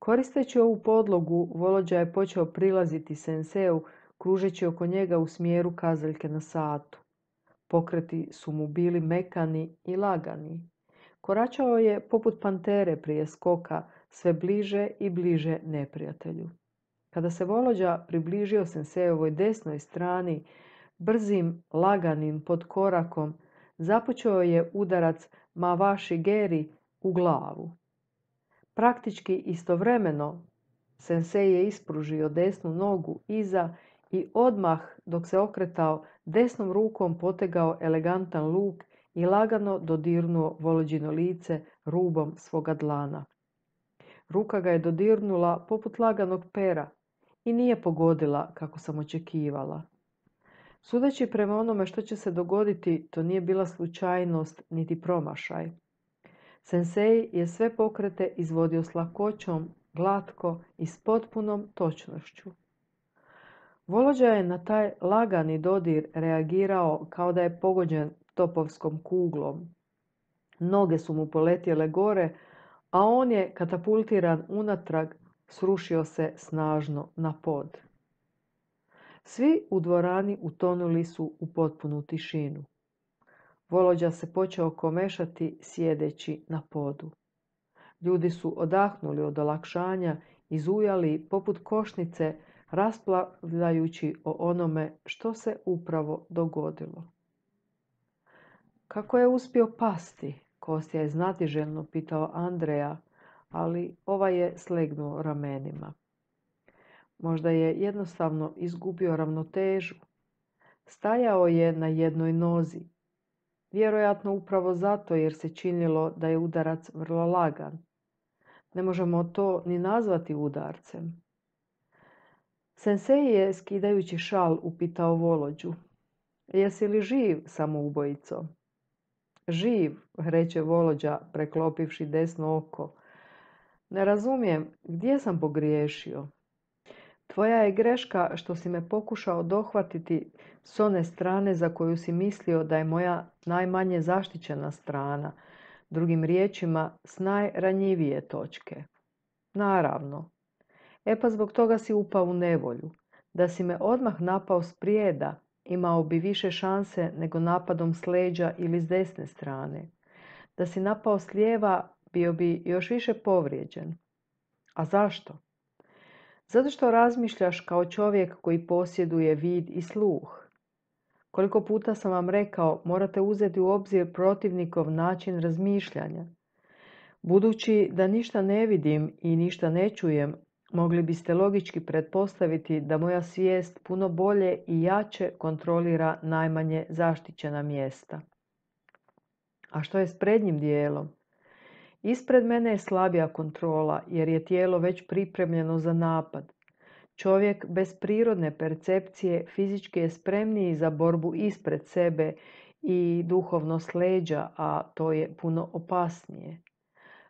Koristeći ovu podlogu, Volođa je počeo prilaziti senseju, kružeći oko njega u smjeru kazaljke na satu. Pokreti su mu bili mekani i lagani. Koračao je poput pantere prije skoka, sve bliže i bliže neprijatelju. Kada se Volođa približio sensejevoj desnoj strani, brzim, laganim podkorakom, započeo je udarac Mawashi Geri u glavu. Praktički istovremeno sensei je ispružio desnu nogu iza i odmah dok se okretao desnom rukom potegao elegantan luk i lagano dodirnuo Volođino lice rubom svoga dlana. Ruka ga je dodirnula poput laganog pera i nije pogodila kako sam očekivala. Sudeći prema onome što će se dogoditi, to nije bila slučajnost niti promašaj. Sensei je sve pokrete izvodio s lakoćom, glatko i s potpunom točnošću. Volođa je na taj lagani dodir reagirao kao da je pogođen topovskom kuglom. Noge su mu poletjele gore, a on je, katapultiran unatrag, srušio se snažno na pod. Svi u dvorani utonuli su u potpunu tišinu. Volođa se počeo komešati sjedeći na podu. Ljudi su odahnuli od olakšanja i zujali poput košnice, raspravljajući o onome što se upravo dogodilo. Kako je uspio pasti? Kostja je znatiželjno pitao Andreja, ali ovaj je slegnuo ramenima. Možda je jednostavno izgubio ravnotežu. Stajao je na jednoj nozi. Vjerojatno upravo zato jer se činilo da je udarac vrlo lagan. Ne možemo to ni nazvati udarcem. Sensei je, skidajući šal, upitao Volođu. Jesi li živ, samoubojico? Živ, reče Volođa, preklopivši desno oko. Ne razumijem, gdje sam pogriješio? Tvoja je greška što si me pokušao dohvatiti s one strane za koju si mislio da je moja najmanje zaštićena strana, drugim riječima s najranjivije točke. Naravno. E pa zbog toga si upao u nevolju. Da si me odmah napao s prijeda, imao bi više šanse nego napadom s leđa ili s desne strane. Da si napao s lijeva, bio bi još više povrijeđen. A zašto? Zato što razmišljaš kao čovjek koji posjeduje vid i sluh. Koliko puta sam vam rekao, morate uzeti u obzir protivnikov način razmišljanja. Budući da ništa ne vidim i ništa ne čujem, mogli biste logički pretpostaviti da moja svijest puno bolje i jače kontrolira najmanje zaštićena mjesta. A što je s prednjim dijelom? Ispred mene je slabija kontrola jer je tijelo već pripremljeno za napad. Čovjek bez prirodne percepcije fizički je spremniji za borbu ispred sebe i duhovno s leđa, a to je puno opasnije.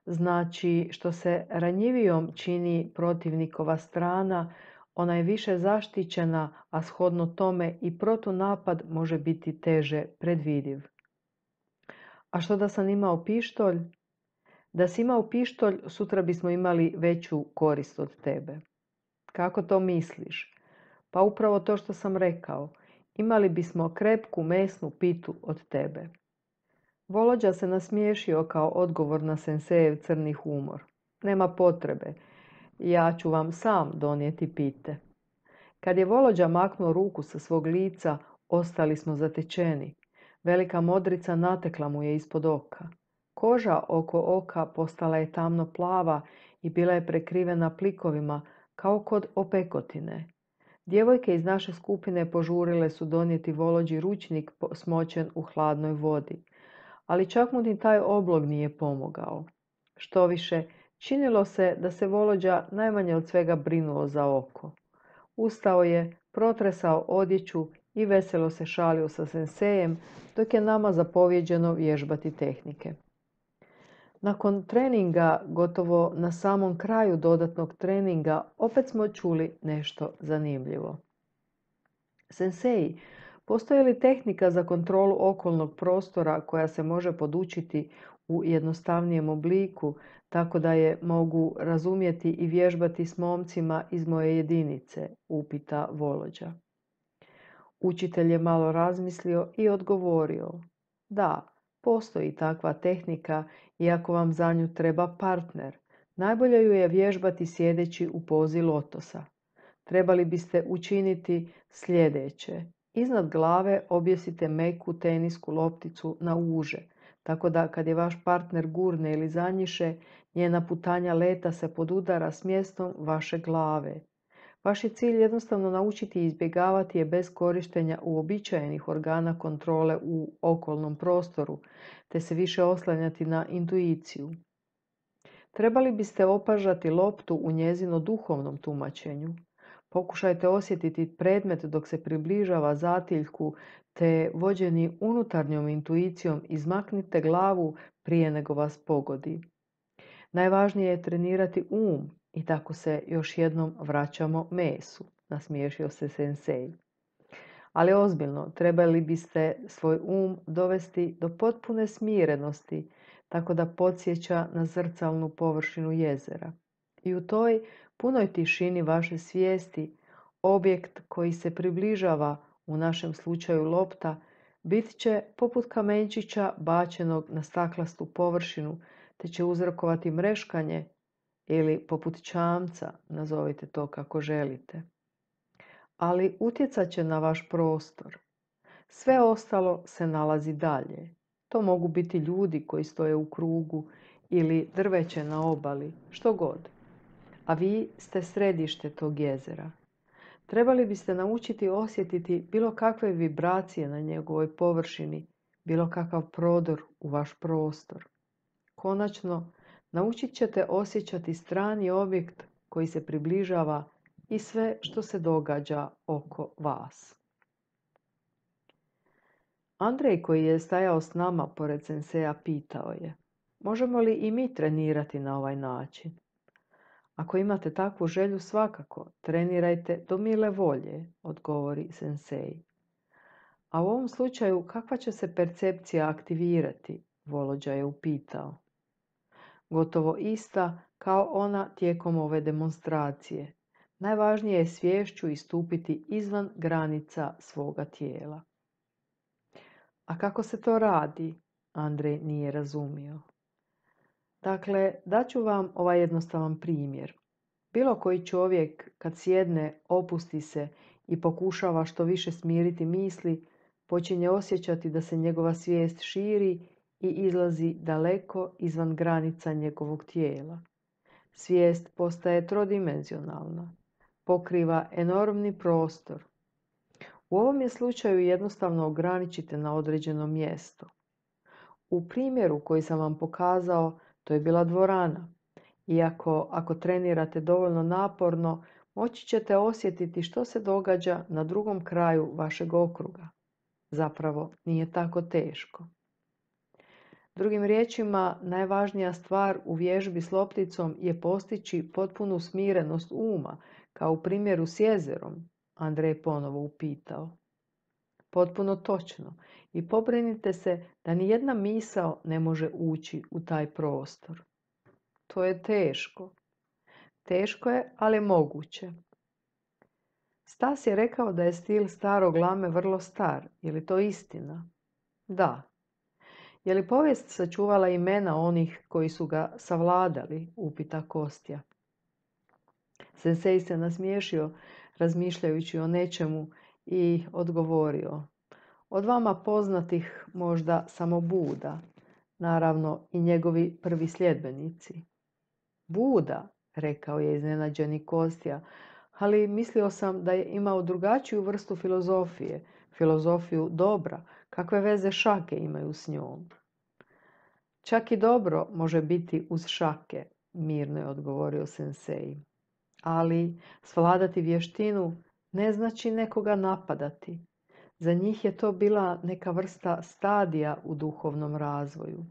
Znači, što se ranjivijom čini protivnikova strana, ona je više zaštićena, a shodno tome i protunapad može biti teže predvidiv. A što da sam imao pištolj? Da si imao pištolj, sutra bismo imali veću korist od tebe. Kako to misliš? Pa upravo to što sam rekao. Imali bismo krepku mesnu pitu od tebe. Volođa se nasmiješio kao odgovor na sensejev crni humor. Nema potrebe. Ja ću vam sam donijeti pite. Kad je Volođa maknuo ruku sa svog lica, ostali smo zatečeni. Velika modrica natekla mu je ispod oka. Koža oko oka postala je tamno plava i bila je prekrivena plikovima, kao kod opekotine. Djevojke iz naše skupine požurile su donijeti Volođi ručnik smočen u hladnoj vodi. Ali čak mu ni taj oblog nije pomogao. Štoviše, činilo se da se Volođa najmanje od svega brinuo za oko. Ustao je, protresao odjeću i veselo se šalio sa sensejem, dok je nama zapovjeđeno vježbati tehnike. Nakon treninga, gotovo na samom kraju dodatnog treninga, opet smo čuli nešto zanimljivo. Sensei, postoji li tehnika za kontrolu okolnog prostora koja se može podučiti u jednostavnijem obliku, tako da je mogu razumjeti i vježbati s momcima iz moje jedinice, upita Volođa. Učitelj je malo razmislio i odgovorio: da, postoji takva tehnika, iako vam za nju treba partner. Najbolje ju je vježbati sjedeći u pozi lotosa. Trebali biste učiniti sljedeće. Iznad glave objesite meku tenisku lopticu na uže, tako da kad je vaš partner gurne ili zanjiše, njena putanja leta se podudara s mjestom vaše glave. Vaš je cilj jednostavno naučiti i izbjegavati je bez korištenja uobičajenih organa kontrole u okolnom prostoru, te se više oslanjati na intuiciju. Trebali biste opažati loptu u njezino duhovnom tumačenju. Pokušajte osjetiti predmet dok se približava zatiljku, te vođeni unutarnjom intuicijom izmaknite glavu prije nego vas pogodi. Najvažnije je trenirati i tako se još jednom vraćamo mesu, nasmiješio se sensei. Ali ozbiljno, trebali biste svoj dovesti do potpune smirenosti, tako da podsjeća na zrcalnu površinu jezera. I u toj punoj tišini vaše svijesti, objekt koji se približava, u našem slučaju lopta, bit će poput kamenčića bačenog na staklastu površinu, te će uzrokovati mreškanje ili poput čamca, nazovite to kako želite. Ali utjecat će na vaš prostor. Sve ostalo se nalazi dalje. To mogu biti ljudi koji stoje u krugu ili drveće na obali, što god. A vi ste središte tog jezera. Trebali biste naučiti osjetiti bilo kakve vibracije na njegovoj površini, bilo kakav prodor u vaš prostor. Konačno, naučit ćete osjećati strani objekt koji se približava i sve što se događa oko vas. Andrej, koji je stajao s nama pored senseja, pitao je: možemo li i mi trenirati na ovaj način? Ako imate takvu želju, svakako, trenirajte do mile volje, odgovori sensei. A u ovom slučaju, kakva će se percepcija aktivirati? Volođa je upitao. Gotovo ista kao ona tijekom ove demonstracije. Najvažnije je sviješću istupiti izvan granica svoga tijela. A kako se to radi? Andrej nije razumio. Dakle, daću vam ovaj jednostavan primjer. Bilo koji čovjek kad sjedne, opusti se i pokušava što više smiriti misli, počinje osjećati da se njegova svijest širi i izlazi daleko izvan granica njegovog tijela. Svijest postaje trodimenzionalna, pokriva enormni prostor. U ovom je slučaju jednostavno ograničite na određeno mjesto. U primjeru koji sam vam pokazao, to je bila dvorana. Iako ako trenirate dovoljno naporno, moći ćete osjetiti što se događa na drugom kraju vašeg okruga. Zapravo nije tako teško. Drugim riječima, najvažnija stvar u vježbi s lopticom je postići potpunu smirenost uma, kao u primjeru s jezerom, Andrej ponovo upitao. Potpuno točno. I pobrinite se da ni jedna misao ne može ući u taj prostor. To je teško. Teško je, ali moguće. Stas je rekao da je stil starog lame vrlo star. Je li to istina? Da. Je li povijest sačuvala imena onih koji su ga savladali? Upita Kostja. Sensei se nasmiješio razmišljajući o nečemu i odgovorio: od vama poznatih možda samo Buda, naravno i njegovi prvi sljedbenici. Buda, rekao je iznenađeni Kostja, ali mislio sam da je imao drugačiju vrstu filozofije, filozofiju dobra, kakve veze šake imaju s njom. Čak i dobro može biti uz šake, mirno je odgovorio sensei. Ali svladati vještinu ne znači nekoga napadati. Za njih je to bila neka vrsta stadija u duhovnom razvoju.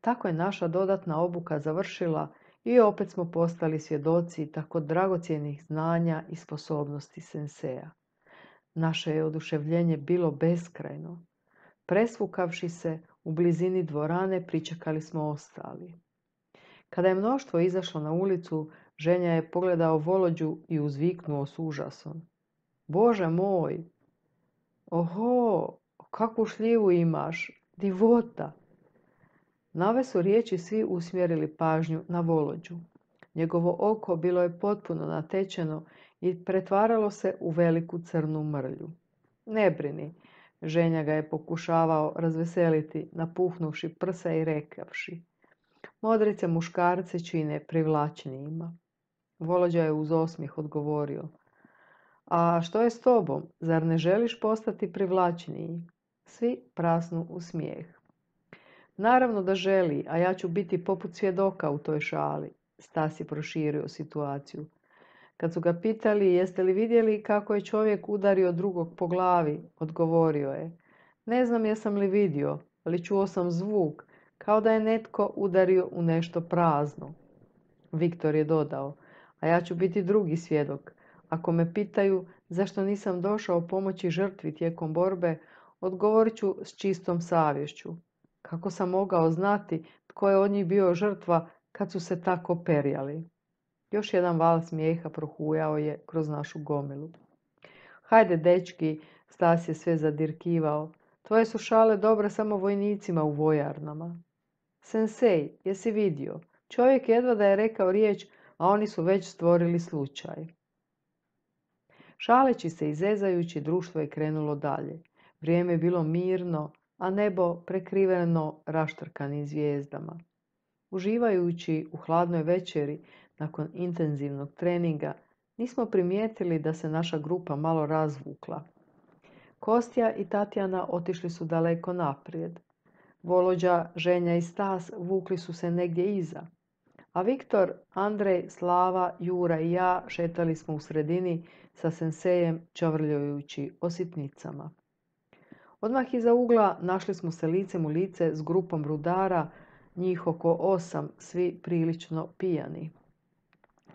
Tako je naša dodatna obuka završila i opet smo postali svjedoci tako dragocjenih znanja i sposobnosti senseja. Naše je oduševljenje bilo beskrajno. Presvukavši se, U blizini dvorane pričekali smo ostali. Kada je mnoštvo izašlo na ulicu, ženja je pogledao Volođu i uzviknuo s užasom. Bože moj! Oho, kakvu šljivu imaš! Divota! Na ove su riječi svi usmjerili pažnju na Volođu. Njegovo oko bilo je potpuno natečeno i pretvaralo se u veliku crnu mrlju. Ne brini, ženja ga je pokušavao razveseliti, napuhnuvši prsa i rekavši. Modrice muškarce čine privlačnijima. Volođa je uz osmijeh odgovorio. A što je s tobom? Zar ne želiš postati privlačniji? Svi prasnu u smijeh. Naravno da želi, a ja ću biti poput svjedoka u toj šali. Stas je proširio situaciju. Kad su ga pitali jeste li vidjeli kako je čovjek udario drugog po glavi, odgovorio je. Ne znam jesam li vidio, ali čuo sam zvuk, kao da je netko udario u nešto prazno. Viktor je dodao, a ja ću biti drugi svjedok. Ako me pitaju zašto nisam došao pomoći žrtvi tijekom borbe, odgovorit ću s čistom savješću. Kako sam mogao znati tko je od njih bio žrtva kad su se tako perjali? Još jedan val smijeha prohujao je kroz našu gomilu. Hajde, dečki, Stas je sve zadirkivao. Tvoje su šale dobre samo vojnicima u vojarnama. Sensei, jesi vidio? Čovjek jedva da je rekao riječ, a oni su već stvorili slučaj. Šaleći se i zezajući, društvo je krenulo dalje. Vrijeme je bilo mirno, a nebo prekriveno raštrkanim zvijezdama. Uživajući u hladnoj večeri, nakon intenzivnog treninga, nismo primijetili da se naša grupa malo razvukla. Kostja i Tatjana otišli su daleko naprijed. Volođa, Ženja i Stas vukli su se negdje iza. A Viktor, Andrej, Slava, Jura i ja šetali smo u sredini sa sensejem čavrljajući o sitnicama. Odmah iza ugla našli smo se licem u lice s grupom rudara, njih oko 8, svi prilično pijani.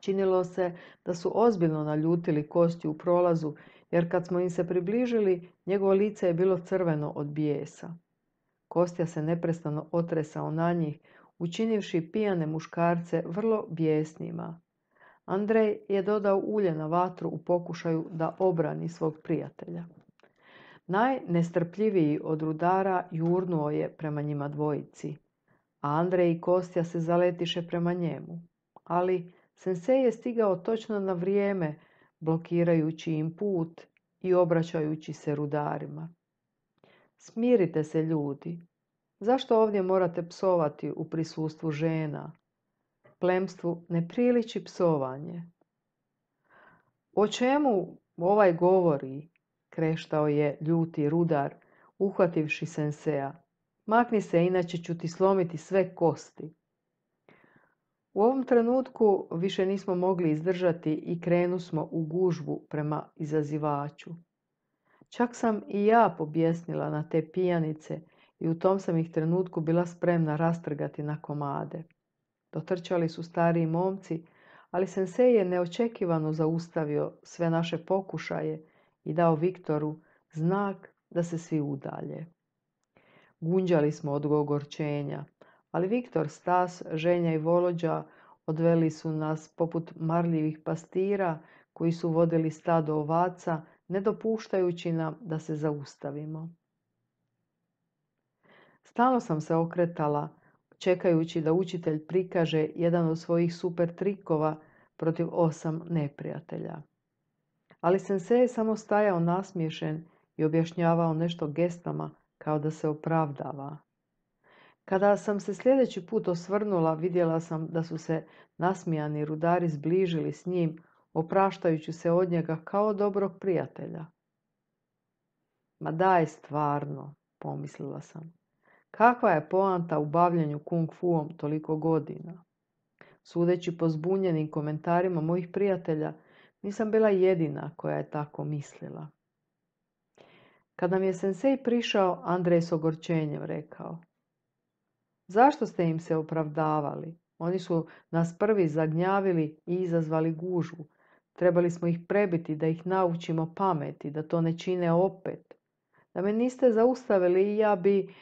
Činilo se da su ozbiljno naljutili Kostju u prolazu, jer kad smo im se približili, njegovo lice je bilo crveno od bijesa. Kostja se neprestano otresao na njih, učinivši pijane muškarce vrlo bijesnima. Andrej je dodao ulje na vatru u pokušaju da obrani svog prijatelja. Najnestrpljiviji od rudara jurnuo je prema njima dvojici, a Andrej i Kostja se zaletiše prema njemu. Ali sensej je stigao točno na vrijeme, blokirajući im put i obraćajući se rudarima. Smirite se, ljudi. Zašto ovdje morate psovati u prisustvu žena? Plemstvu ne priliči psovanje. O čemu ovaj govori? Kreštao je ljuti rudar, uhvativši senseja. Makni se, inače ću ti slomiti sve kosti. U ovom trenutku više nismo mogli izdržati i krenusmo u gužvu prema izazivaču. Čak sam i ja pobjesnila na te pijanice i u tom sam ih trenutku bila spremna rastrgati na komade. Dotrčali su stariji momci, ali sensej je neočekivano zaustavio sve naše pokušaje i dao Viktoru znak da se svi udalje. Gunđali smo od ogorčenja, ali Viktor, Stas, Ženja i Volođa odveli su nas poput marljivih pastira koji su vodili stado ovaca, ne dopuštajući nam da se zaustavimo. Stalno sam se okretala, čekajući da učitelj prikaže jedan od svojih super trikova protiv 8 neprijatelja. Ali sensej je samo stajao nasmiješen i objašnjavao nešto gestama kao da se opravdava. Kada sam se sljedeći put osvrnula, vidjela sam da su se nasmijani rudari zbližili s njim, opraštajući se od njega kao dobrog prijatelja. Ma daj stvarno, pomislila sam. Kakva je poanta u bavljenju kung fuom toliko godina? Sudeći po zbunjenim komentarima mojih prijatelja, nisam bila jedina koja je tako mislila. Kad nam je sensej prišao, Andrej s ogorčenjem rekao. Zašto ste im se opravdavali? Oni su nas prvi zagnjavili i izazvali gužvu. Trebali smo ih prebiti da ih naučimo pameti, da to ne čine opet. Da me niste zaustavili i ja bi...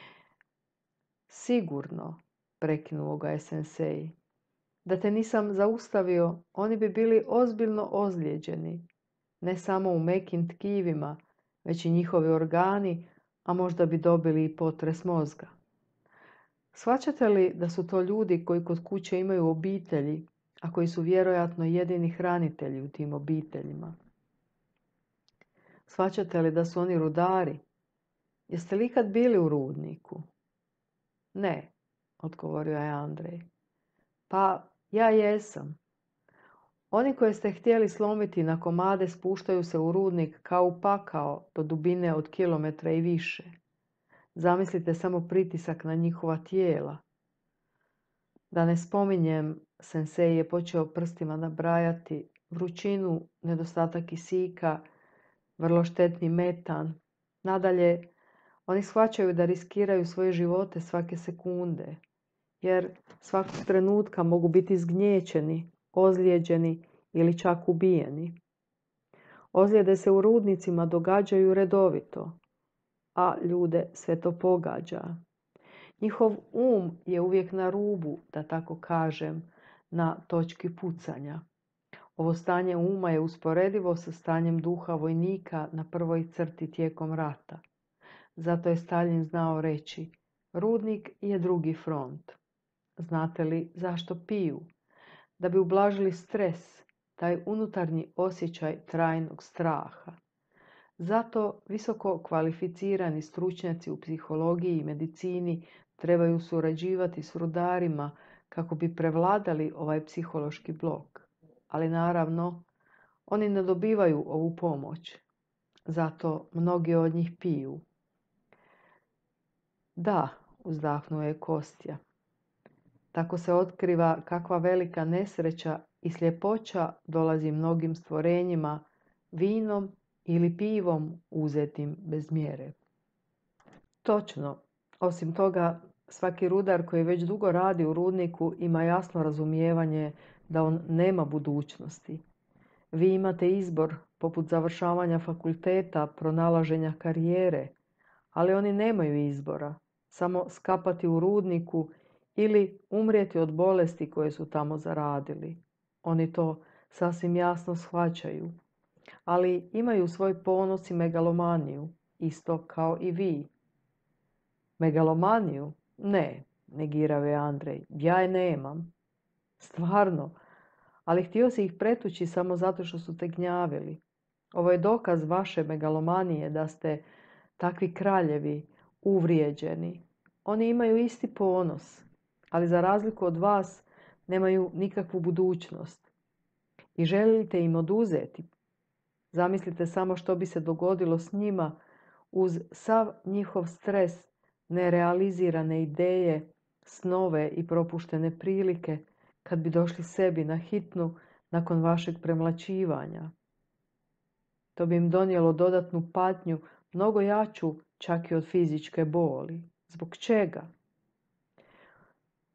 Sigurno, prekinuo ga je sensei. Da te nisam zaustavio, oni bi bili ozbiljno ozlijeđeni. Ne samo u mekim tkivima, već i njihovi organi, a možda bi dobili i potres mozga. Shvaćate li da su to ljudi koji kod kuće imaju obitelji, a koji su vjerojatno jedini hranitelji u tim obiteljima? Shvaćate li da su oni rudari? Jeste li ikad bili u rudniku? Ne, odgovorio je Andrej. Pa, ja jesam. Oni koje ste htjeli slomiti na komade spuštaju se u rudnik kao u pakao do dubine od kilometra i više. Zamislite samo pritisak na njihova tijela. Da ne spominjem, sensei je počeo prstima nabrajati vrućinu, nedostatak kisika, vrlo štetni metan. Nadalje, oni shvaćaju da riskiraju svoje živote svake sekunde, jer svakog trenutka mogu biti zgnječeni, ozlijeđeni ili čak ubijeni. Ozljede se u rudnicima događaju redovito, a ljude sve to pogađa. Njihov je uvijek na rubu, da tako kažem, na točki pucanja. Ovo stanje uma je usporedivo sa stanjem duha vojnika na prvoj crti tijekom rata. Zato je Staljin znao reći, rudnik je drugi front. Znate li zašto piju? Da bi ublažili stres, taj unutarnji osjećaj trajnog straha. Zato visoko kvalificirani stručnjaci u psihologiji i medicini trebaju surađivati s rudarima kako bi prevladali ovaj psihološki blok. Ali naravno, oni ne dobivaju ovu pomoć. Zato mnogi od njih piju. Da, uzdahnuo je Kostja. Tako se otkriva kakva velika nesreća i sljepoća dolazi mnogim stvorenjima vinom ili pivom uzetim bez mjere. Točno. Osim toga, svaki rudar koji već dugo radi u rudniku ima jasno razumijevanje da on nema budućnosti. Vi imate izbor poput završavanja fakulteta, pronalaženja karijere, ali oni nemaju izbora. Samo skapati u rudniku ili umrijeti od bolesti koje su tamo zaradili. Oni to sasvim jasno shvaćaju. Ali imaju svoj ponos i megalomaniju, isto kao i vi. Megalomaniju? Ne, negirao je Andrej. Ja je nemam. Stvarno, ali htio si ih pretući samo zato što su te gnjavili. Ovo je dokaz vaše megalomanije da ste takvi kraljevi, uvrijeđeni. Oni imaju isti ponos, ali za razliku od vas nemaju nikakvu budućnost. I želite im oduzeti. Zamislite samo što bi se dogodilo s njima uz sav njihov stres, nerealizirane ideje, snove i propuštene prilike kad bi došli sebi na hitnu nakon vašeg premlaćivanja. To bi im donijelo dodatnu patnju, mnogo jaču čak i od fizičke boli. Zbog čega?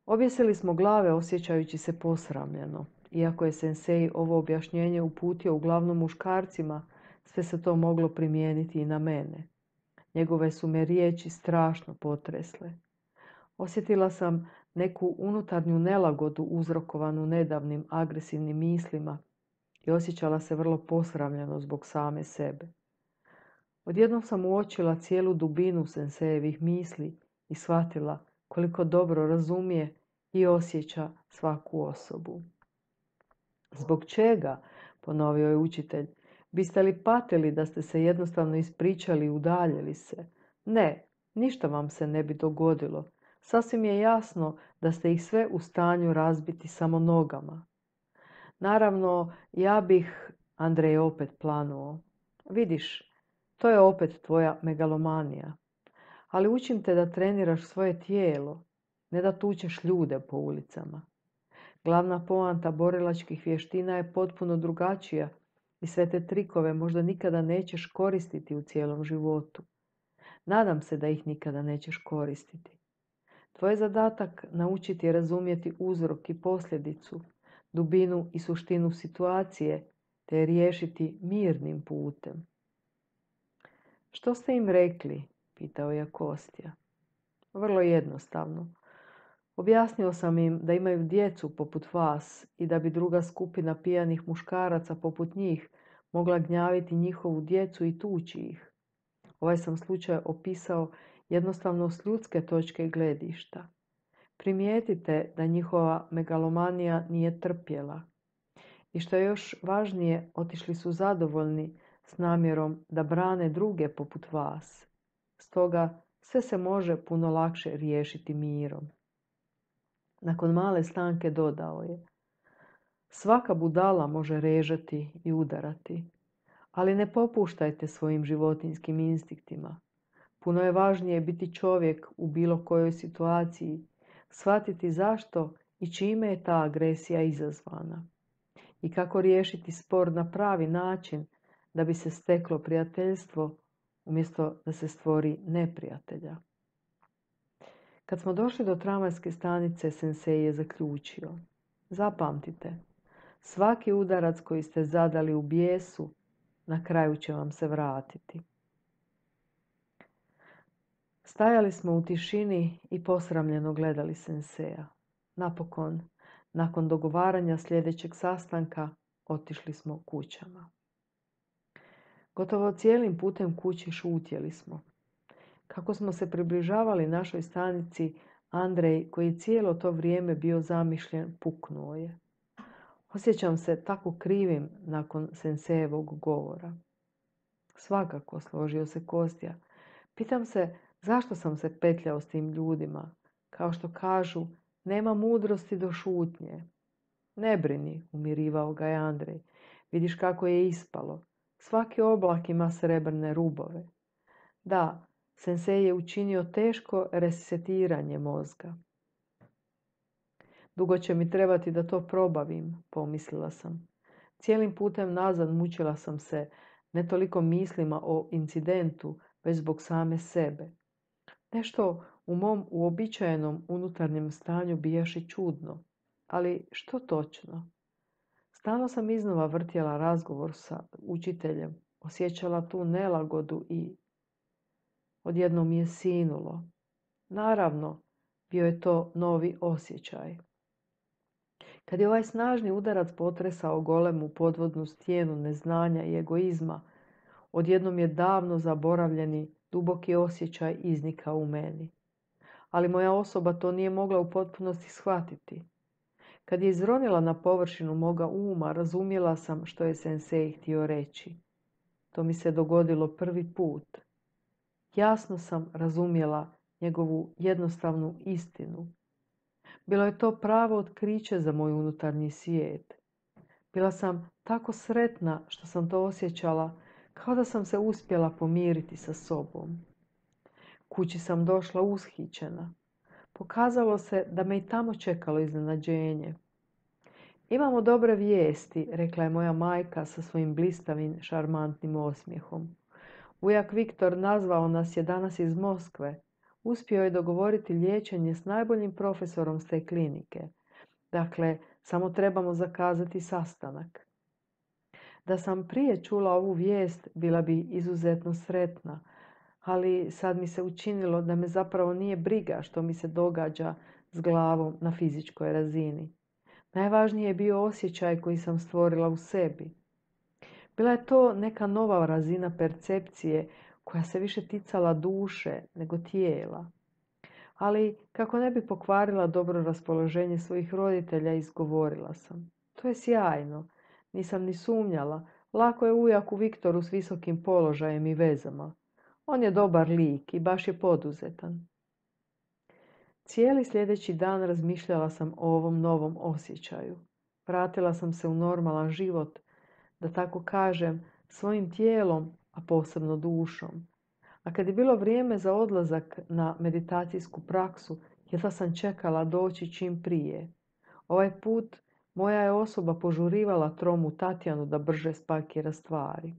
Objesili smo glave osjećajući se posramljeno. Iako je sensei ovo objašnjenje uputio uglavnom muškarcima, sve se to moglo primijeniti i na mene. Njegove su me riječi strašno potresle. Osjetila sam neku unutarnju nelagodu uzrokovanu nedavnim agresivnim mislima i osjećala se vrlo posramljeno zbog same sebe. Odjednom sam uočila cijelu dubinu sensejevih misli i shvatila koliko dobro razumije i osjeća svaku osobu. Zbog čega, ponovio je učitelj, biste li patili da ste se jednostavno ispričali i udaljili se? Ne, ništa vam se ne bi dogodilo. Sasvim je jasno da ste ih sve u stanju razbiti samo nogama. Naravno, ja bih, Andrej opet planuo. Vidiš, to je opet tvoja megalomanija. Ali učim te da treniraš svoje tijelo, ne da tučeš ljude po ulicama. Glavna poanta borilačkih vještina je potpuno drugačija i sve te trikove možda nikada nećeš koristiti u cijelom životu. Nadam se da ih nikada nećeš koristiti. Tvoj je zadatak naučiti razumjeti uzrok i posljedicu, dubinu i suštinu situacije, te je riješiti mirnim putem. Što ste im rekli? Pitao je Kostja. Vrlo jednostavno. Objasnio sam im da imaju djecu poput vas i da bi druga skupina pijanih muškaraca poput njih mogla gnjaviti njihovu djecu i tući ih. Ovaj sam slučaj opisao jednostavno s ljudske točke gledišta. Primijetite da njihova megalomanija nije trpjela. I što je još važnije, otišli su zadovoljni s namjerom da brane druge poput vas. Stoga sve se može puno lakše riješiti mirom. Nakon male stanke dodao je: svaka budala može režati i udarati, ali ne popuštajte svojim životinjskim instinktima. Puno je važnije biti čovjek u bilo kojoj situaciji, shvatiti zašto i čime je ta agresija izazvana i kako riješiti spor na pravi način da bi se steklo prijateljstvo umjesto da se stvori neprijatelja. Kad smo došli do tramvajske stanice, sensei je zaključio: zapamtite, svaki udarac koji ste zadali u bijesu, na kraju će vam se vratiti. Stajali smo u tišini i posramljeno gledali senseja. Napokon, nakon dogovaranja sljedećeg sastanka, otišli smo kućama. Gotovo cijelim putem kući šutjeli smo. Kako smo se približavali našoj stanici, Andrej, koji je cijelo to vrijeme bio zamišljen, puknuo je. Osjećam se tako krivim nakon sensejevog govora. Svakako, složio se Kostja. Pitam se zašto sam se petljao s tim ljudima. Kao što kažu, nema mudrosti do šutnje. Ne brini, umirivao ga je Andrej. Vidiš kako je ispalo. Svaki oblak ima srebrne rubove. Da, sensei je učinio teško resetiranje mozga. Dugo će mi trebati da to probavim, pomislila sam. Cijelim putem nazad mučila sam se, ne toliko mislima o incidentu, već zbog same sebe. Nešto u mom uobičajenom unutarnjem stanju bijaše čudno. Ali što točno? Stalno sam iznova vrtjela razgovor sa učiteljem, osjećala tu nelagodu i odjednom mi je sinulo. Naravno, bio je to novi osjećaj. Kad je ovaj snažni udarac potresao golemu podvodnu stijenu neznanja i egoizma, odjednom je davno zaboravljeni duboki osjećaj iznikao u meni. Ali moja osoba to nije mogla u potpunosti shvatiti. Kad je izronila na površinu moga uma, razumjela sam što je sensei htio reći. To mi se dogodilo prvi put. Jasno sam razumjela njegovu jednostavnu istinu. Bilo je to pravo otkriće za moj unutarnji svijet. Bila sam tako sretna što sam to osjećala, kao da sam se uspjela pomiriti sa sobom. Kući sam došla ushićena. Pokazalo se da me i tamo čekalo iznenađenje. Imamo dobre vijesti, rekla je moja majka sa svojim blistavim, šarmantnim osmijehom. Ujak Viktor nazvao nas je danas iz Moskve. Uspio je dogovoriti liječenje s najboljim profesorom s te klinike. Dakle, samo trebamo zakazati sastanak. Da sam prije čula ovu vijest, bila bi izuzetno sretna, ali sad mi se učinilo da me zapravo nije briga što mi se događa s glavom na fizičkoj razini. Najvažniji je bio osjećaj koji sam stvorila u sebi. Bila je to neka nova razina percepcije koja se više ticala duše nego tijela. Ali kako ne bi pokvarila dobro raspoloženje svojih roditelja, izgovorila sam: to je sjajno. Nisam ni sumnjala. Lako je ujaku Viktoru s visokim položajem i vezama. On je dobar lik i baš je poduzetan. Cijeli sljedeći dan razmišljala sam o ovom novom osjećaju. Vratila sam se u normalan život, da tako kažem, svojim tijelom, a posebno dušom. A kad je bilo vrijeme za odlazak na meditacijsku praksu, jedva sam čekala doći čim prije. Ovaj put moja je osoba požurivala tromu Tatjanu da brže spakira stvari.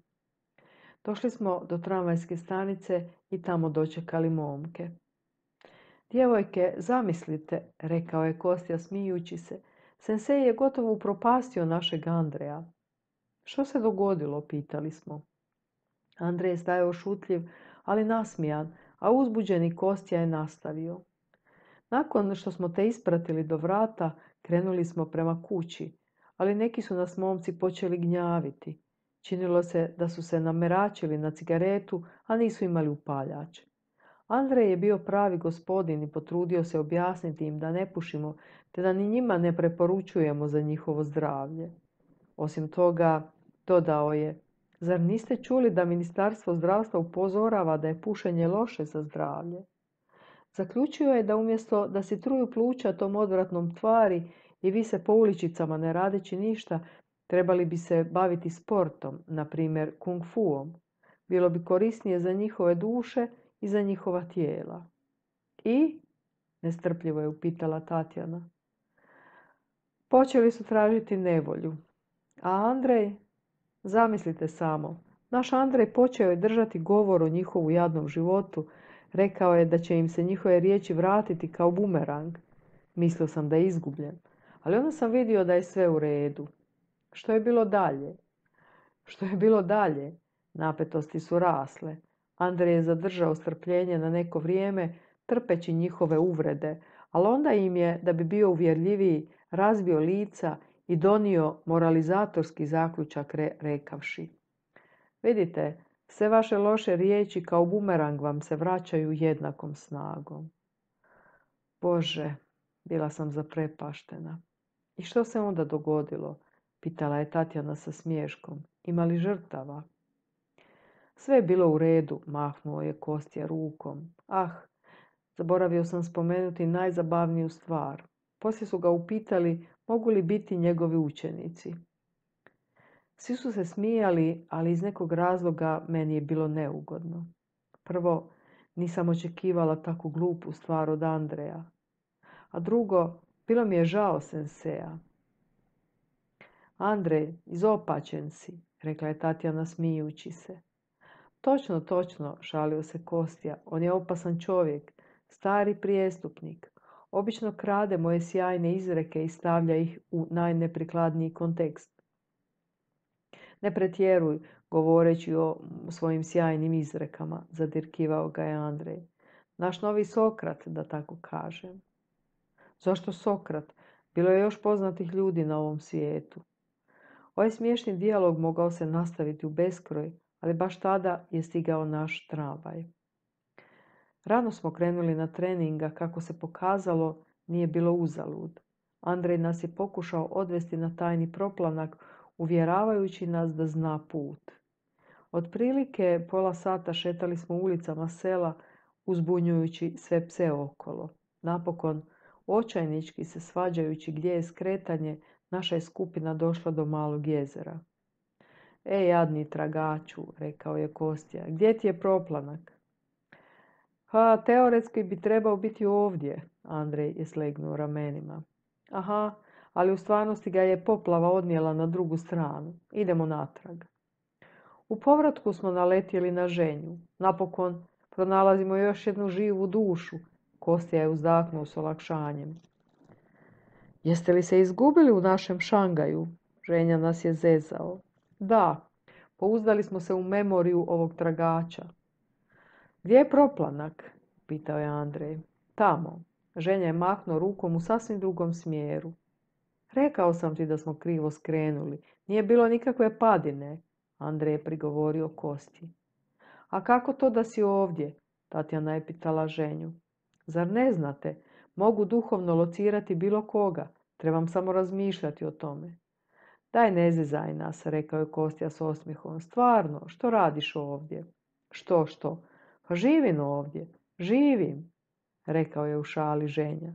Došli smo do tramvajske stanice i tamo dočekali momke. Djevojke, zamislite, rekao je Kostja smijući se, sensei je gotovo upropastio našeg Andreja. Što se dogodilo, pitali smo. Andrej je stajao šutljiv, ali nasmijan, a uzbuđeni Kostja je nastavio. Nakon što smo te ispratili do vrata, krenuli smo prema kući, ali neki su nas momci počeli gnjaviti. Činilo se da su se nameračili na cigaretu, a nisu imali upaljač. Andrej je bio pravi gospodin i potrudio se objasniti im da ne pušimo, te da ni njima ne preporučujemo za njihovo zdravlje. Osim toga, dodao je, zar niste čuli da Ministarstvo zdravstva upozorava da je pušenje loše za zdravlje? Zaključio je da umjesto da si truju pluća tom odvratnom tvari i vise po uličicama ne radeći ništa, trebali bi se baviti sportom, na primjer kung fuom. Bilo bi korisnije za njihove duše i za njihova tijela. I? Nestrpljivo je upitala Tatjana. Počeli su tražiti nevolju. A Andrej? Zamislite samo. Naš Andrej počeo je držati govor o njihovu jadnom životu. Rekao je da će im se njihove riječi vratiti kao bumerang. Mislio sam da je izgubljen. Ali onda sam vidio da je sve u redu. Što je bilo dalje? Što je bilo dalje? Napetosti su rasle. Andrej je zadržao strpljenje na neko vrijeme, trpeći njihove uvrede, ali onda im je, da bi bio uvjerljiviji, razbio lica i donio moralizatorski zaključak rekavši. Vidite, sve vaše loše riječi kao bumerang vam se vraćaju jednakom snagom. Bože, bila sam zaprepaštena. I što se onda dogodilo? Pitala je Tatjana sa smiješkom. Ima li žrtava? Sve je bilo u redu, mahnuo je Kostja rukom. Ah, zaboravio sam spomenuti najzabavniju stvar. Poslije su ga upitali mogu li biti njegovi učenici. Svi su se smijali, ali iz nekog razloga meni je bilo neugodno. Prvo, nisam očekivala tako glupu stvar od Andreja. A drugo, bilo mi je žao Sensea. Andrej, izopačen si, rekla je Tatjana smijući se. Točno, točno, šalio se Kostja. On je opasan čovjek, stari prijestupnik. Obično krade moje sjajne izreke i stavlja ih u najneprikladniji kontekst. Ne pretjeruj govoreći o svojim sjajnim izrekama, zadirkivao ga je Andrej. Naš novi Sokrat, da tako kažem. Zašto Sokrat? Bilo je još poznatih ljudi na ovom svijetu. Ovaj smiješni dijalog mogao se nastaviti u beskraj, ali baš tada je stigao naš tramvaj. Rano smo krenuli na treninga, kako se pokazalo, nije bilo uzalud. Andrej nas je pokušao odvesti na tajni proplanak, uvjeravajući nas da zna put. Otprilike pola sata šetali smo ulicama sela, uzbunjujući sve pse okolo. Napokon, očajnički se svađajući gdje je skretanje, naša je skupina došla do malog jezera. Jadni tragaču, rekao je Kostja, gdje ti je proplanak? Teoretski bi trebao biti ovdje, Andrej je slegnuo ramenima. Aha, ali u stvarnosti ga je poplava odnijela na drugu stranu. Idemo natrag. U povratku smo naletjeli na ženju. Napokon pronalazimo još jednu živu dušu. Kostja je uzdahnuo s olakšanjem. Jeste li se izgubili u našem Šangaju? Ženja nas je zezao. Da, pouzdali smo se u memoriju ovog tragača. Gdje je proplanak? Pitao je Andrej. Tamo. Ženja je mahnuo rukom u sasvim drugom smjeru. Rekao sam ti da smo krivo skrenuli. Nije bilo nikakve padine, Andrej je prigovorio Kosti. A kako to da si ovdje? Tatjana je pitala ženju. Zar ne znate? Mogu duhovno locirati bilo koga. Trebam samo razmišljati o tome. Daj ne zezaj nas, rekao je Kostja s osmijehom. Stvarno, što radiš ovdje? Što? Pa živim ovdje. Živim, rekao je u šali ženja.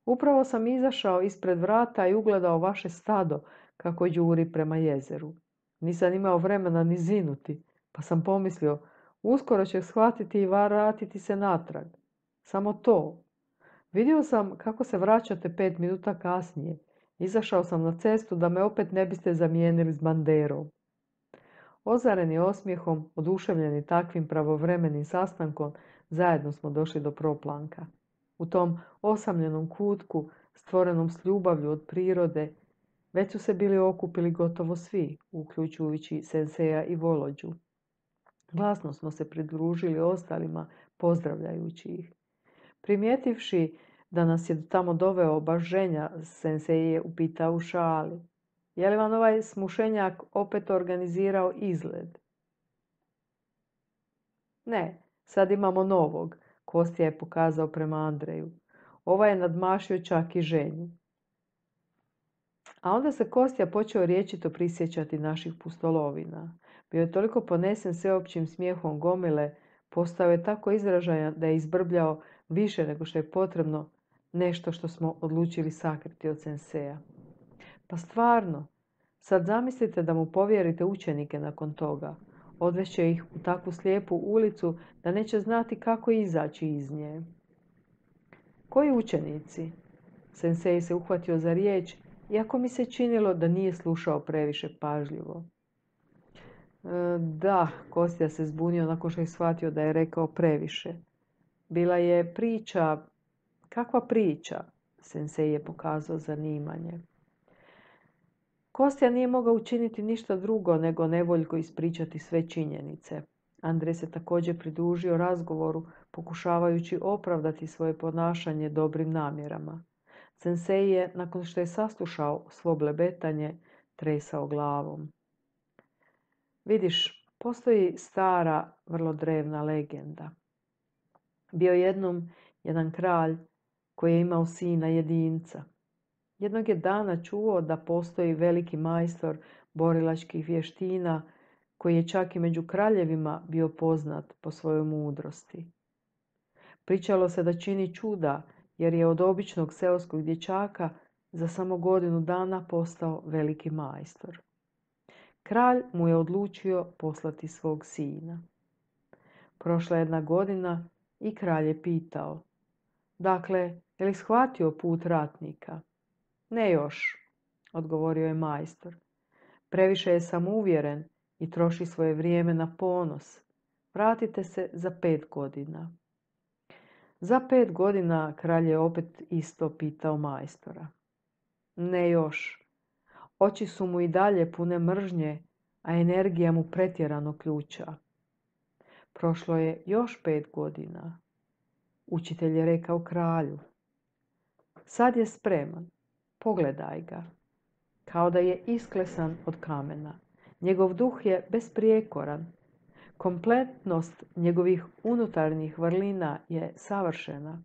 Upravo sam izašao ispred vrata i ugledao vaše stado kako đuri prema jezeru. Nisam imao vremena ni zinuti, pa sam pomislio, uskoro će shvatiti i vratiti se natrag. Samo to. Vidio sam kako se vraćate 5 minuta kasnije. Izašao sam na cestu da me opet ne biste zamijenili s banderom. Ozareni osmijehom, oduševljeni takvim pravovremenim sastankom, zajedno smo došli do proplanka. U tom osamljenom kutku, stvorenom s ljubavlju od prirode, već su se bili okupili gotovo svi, uključujući Senseja i Volođu. Glasno smo se pridružili ostalima, pozdravljajući ih. Primijetivši Da nas je tamo doveo baš ženja, sensei je upitao u šali. Je li vam ovaj smušenjak opet organizirao izgled? Ne, sad imamo novog, Kostja je pokazao prema Andreju. Ovaj je nadmašio čak i ženju. A onda se Kostja počeo rječito prisjećati naših pustolovina. Bio je toliko ponesen sveopćim smijehom gomile, postao je tako izražajan da je izbrbljao više nego što je potrebno nešto što smo odlučili sakriti od senseja. Pa stvarno, sad zamislite da mu povjerite učenike nakon toga. Odvešće ih u takvu slijepu ulicu da neće znati kako izaći iz nje. Koji učenici? Sensei se uhvatio za riječ, iako mi se činilo da nije slušao previše pažljivo. Da, Kostja se zbunio nakon što je shvatio da je rekao previše. Bila je priča. Kakva priča? Sensei je pokazao zanimanje. Kostja nije mogao učiniti ništa drugo nego nevoljko ispričati sve činjenice. Andrej se također pridružio razgovoru, pokušavajući opravdati svoje ponašanje dobrim namjerama. Sensei je, nakon što je saslušao svo blebetanje, tresao glavom. Vidiš, postoji stara, vrlo drevna legenda. Bio jednom jedan kralj koji je imao sina jedinca. Jednog je dana čuo da postoji veliki majstor borilačkih vještina koji je čak i među kraljevima bio poznat po svojoj mudrosti. Pričalo se da čini čuda jer je od običnog seoskog dječaka za samo godinu dana postao veliki majstor. Kralj mu je odlučio poslati svog sina. Prošla jedna godina i kralj je pitao: Dakle, je li shvatio put ratnika? Ne još, odgovorio je majstor. Previše je samouvjeren i troši svoje vrijeme na ponos. Vratite se za 5 godina. Za 5 godina kralj je opet isto pitao majstora. Ne još. Oči su mu i dalje pune mržnje, a energija mu pretjerano ključa. Prošlo je još 5 godina. Učitelj je rekao kralju: Sad je spreman. Pogledaj ga. Kao da je isklesan od kamena. Njegov duh je besprijekoran. Kompletnost njegovih unutarnjih vrlina je savršena.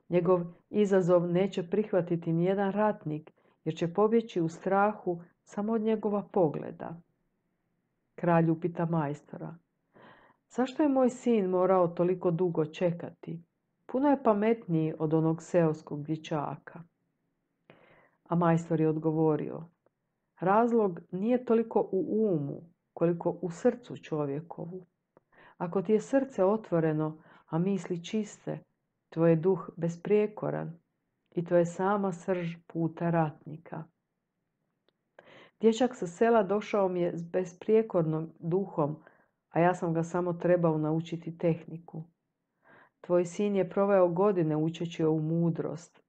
Njegov izazov neće prihvatiti nijedan ratnik, jer će pobjeći u strahu samo od njegova pogleda. Kralj upita majstora: Zašto je moj sin morao toliko dugo čekati? Puno je pametniji od onog seoskog dječaka. A majstor je odgovorio: Razlog nije toliko u umu, koliko u srcu čovjekovu. Ako ti je srce otvoreno, a misli čiste, tvoj je duh besprijekoran i to je sama srž puta ratnika. Dječak sa sela došao mi je s besprijekornom duhom, a ja sam ga samo trebao naučiti tehniku. Tvoj sin je proveo godine učeći ovu mudrost.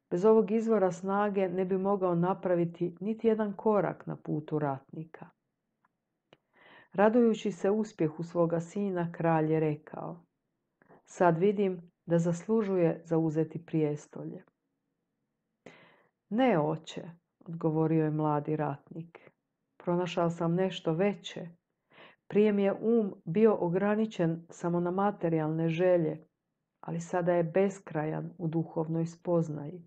Bez ovog izvora snage ne bi mogao napraviti niti jedan korak na putu ratnika. Radujući se uspjehu svoga sina, kralj je rekao: Sad vidim da zaslužuje zauzeti prijestolje. Ne, oče, odgovorio je mladi ratnik. Pronašao sam nešto veće. Prije mi je bio ograničen samo na materijalne želje, ali sada je beskrajan u duhovnoj spoznaji.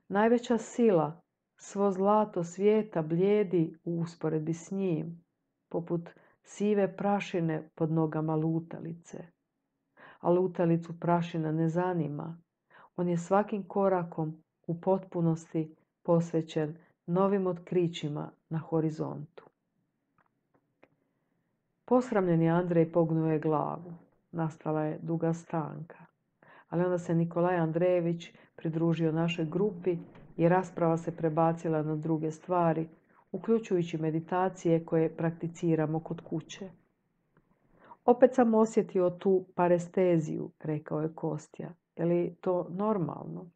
Najveća sila, svo zlato svijeta blijedi u usporedbi s njim, poput sive prašine pod nogama lutalice. A lutalicu prašina ne zanima. On je svakim korakom u potpunosti posvećen novim otkrićima na horizontu. Posramljeni Andrej pognuo je glavu. Nastala je duga stanka. Ali onda se Nikolaj Andrejević pridružio našoj grupi i rasprava se prebacila na druge stvari, uključujući meditacije koje prakticiramo kod kuće. Opet sam osjetio tu paresteziju, rekao je Kostja. Je li to normalno?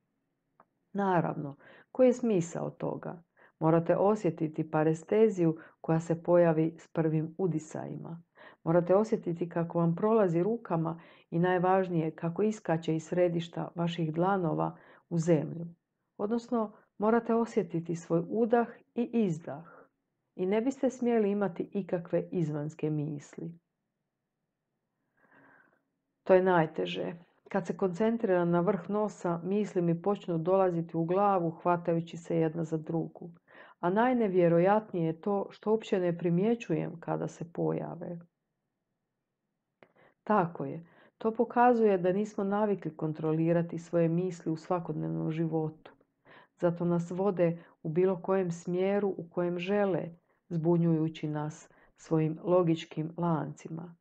Naravno, koji je smisao toga? Morate osjetiti paresteziju koja se pojavi s prvim udisajima. Morate osjetiti kako vam prolazi rukama i najvažnije kako iskače iz središta vaših dlanova u zemlju. Odnosno, morate osjetiti svoj udah i izdah. I ne biste smjeli imati ikakve izvanjske misli. To je najteže. Kad se koncentriram na vrh nosa, misli mi počnu dolaziti u glavu, hvatajući se jedna za drugu. A najnevjerojatnije je to što uopće ne primjećujem kada se pojave. Tako je. To pokazuje da nismo navikli kontrolirati svoje misli u svakodnevnom životu. Zato nas vode u bilo kojem smjeru u kojem žele, zbunjujući nas svojim logičkim lancima.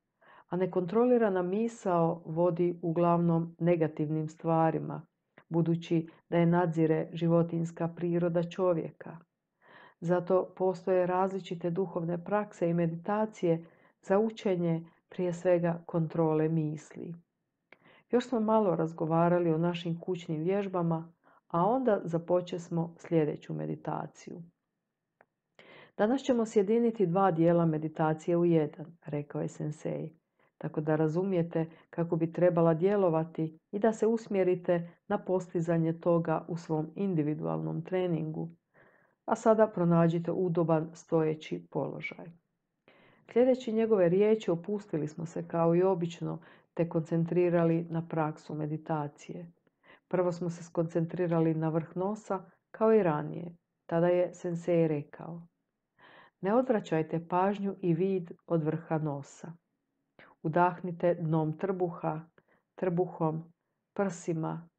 A nekontrolirana misao vodi uglavnom negativnim stvarima, budući da je nadzire životinjska priroda čovjeka. Zato postoje različite duhovne prakse i meditacije za učenje prije svega kontrole misli. Još smo malo razgovarali o našim kućnim vježbama, a onda započesmo sljedeću meditaciju. Danas ćemo sjediniti 2 dijela meditacije u jedan, rekao je sensei, tako da razumijete kako bi trebala djelovati i da se usmjerite na postizanje toga u svom individualnom treningu. A sada pronađite udoban stojeći položaj. Sljedeći njegove riječi opustili smo se kao i obično te koncentrirali na praksu meditacije. Prvo smo se skoncentrirali na vrh nosa kao i ranije. Tada je sensei rekao: ne odvraćajte pažnju i vid od vrha nosa. Udahnite dnom trbuhom, prsima,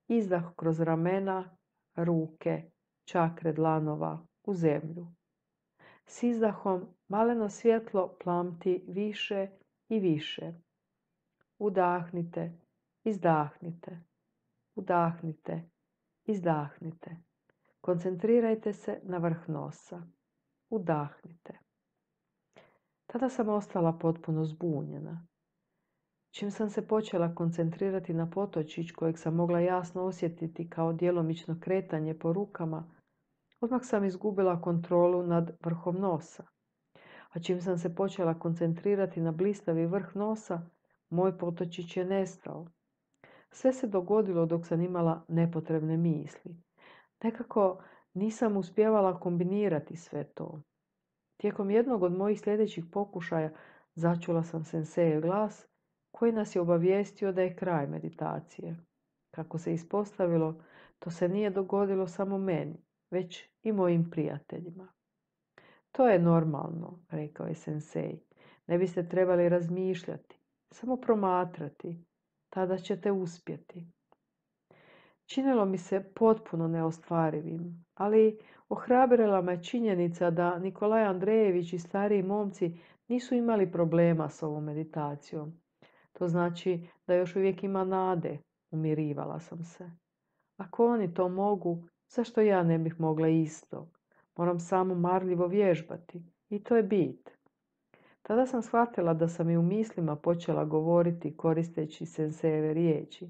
izdah kroz ramena, ruke, čakre dlanova u zemlju. S izdahom maleno svjetlo plamti više i više. Udahnite, izdahnite, udahnite, izdahnite. Koncentrirajte se na vrh nosa. Udahnite. Tada sam ostala potpuno zbunjena. Čim sam se počela koncentrirati na potočić kojeg sam mogla jasno osjetiti kao djelomično kretanje po rukama, odmah sam izgubila kontrolu nad vrhom nosa. A čim sam se počela koncentrirati na blistavi vrh nosa, moj potočić je nestao. Sve se dogodilo dok sam imala nepotrebne misli. Nekako nisam uspjevala kombinirati sve to. Tijekom jednog od mojih sljedećih pokušaja začula sam senseijev glas koji nas je obavijestio da je kraj meditacije. Kako se ispostavilo, to se nije dogodilo samo meni, već i mojim prijateljima. To je normalno, rekao je sensei. Ne biste trebali razmišljati, samo promatrati. Tada ćete uspjeti. Činilo mi se potpuno neostvarivim, ali ohrabrila me činjenica da Nikolaj Andrejević i stariji momci nisu imali problema s ovom meditacijom. To znači da još uvijek ima nade, umirivala sam se. Ako oni to mogu, zašto ja ne bih mogla isto? Moram samo marljivo vježbati i to je bit. Tada sam shvatila da sam i u mislima počela govoriti koristeći sensejeve riječi.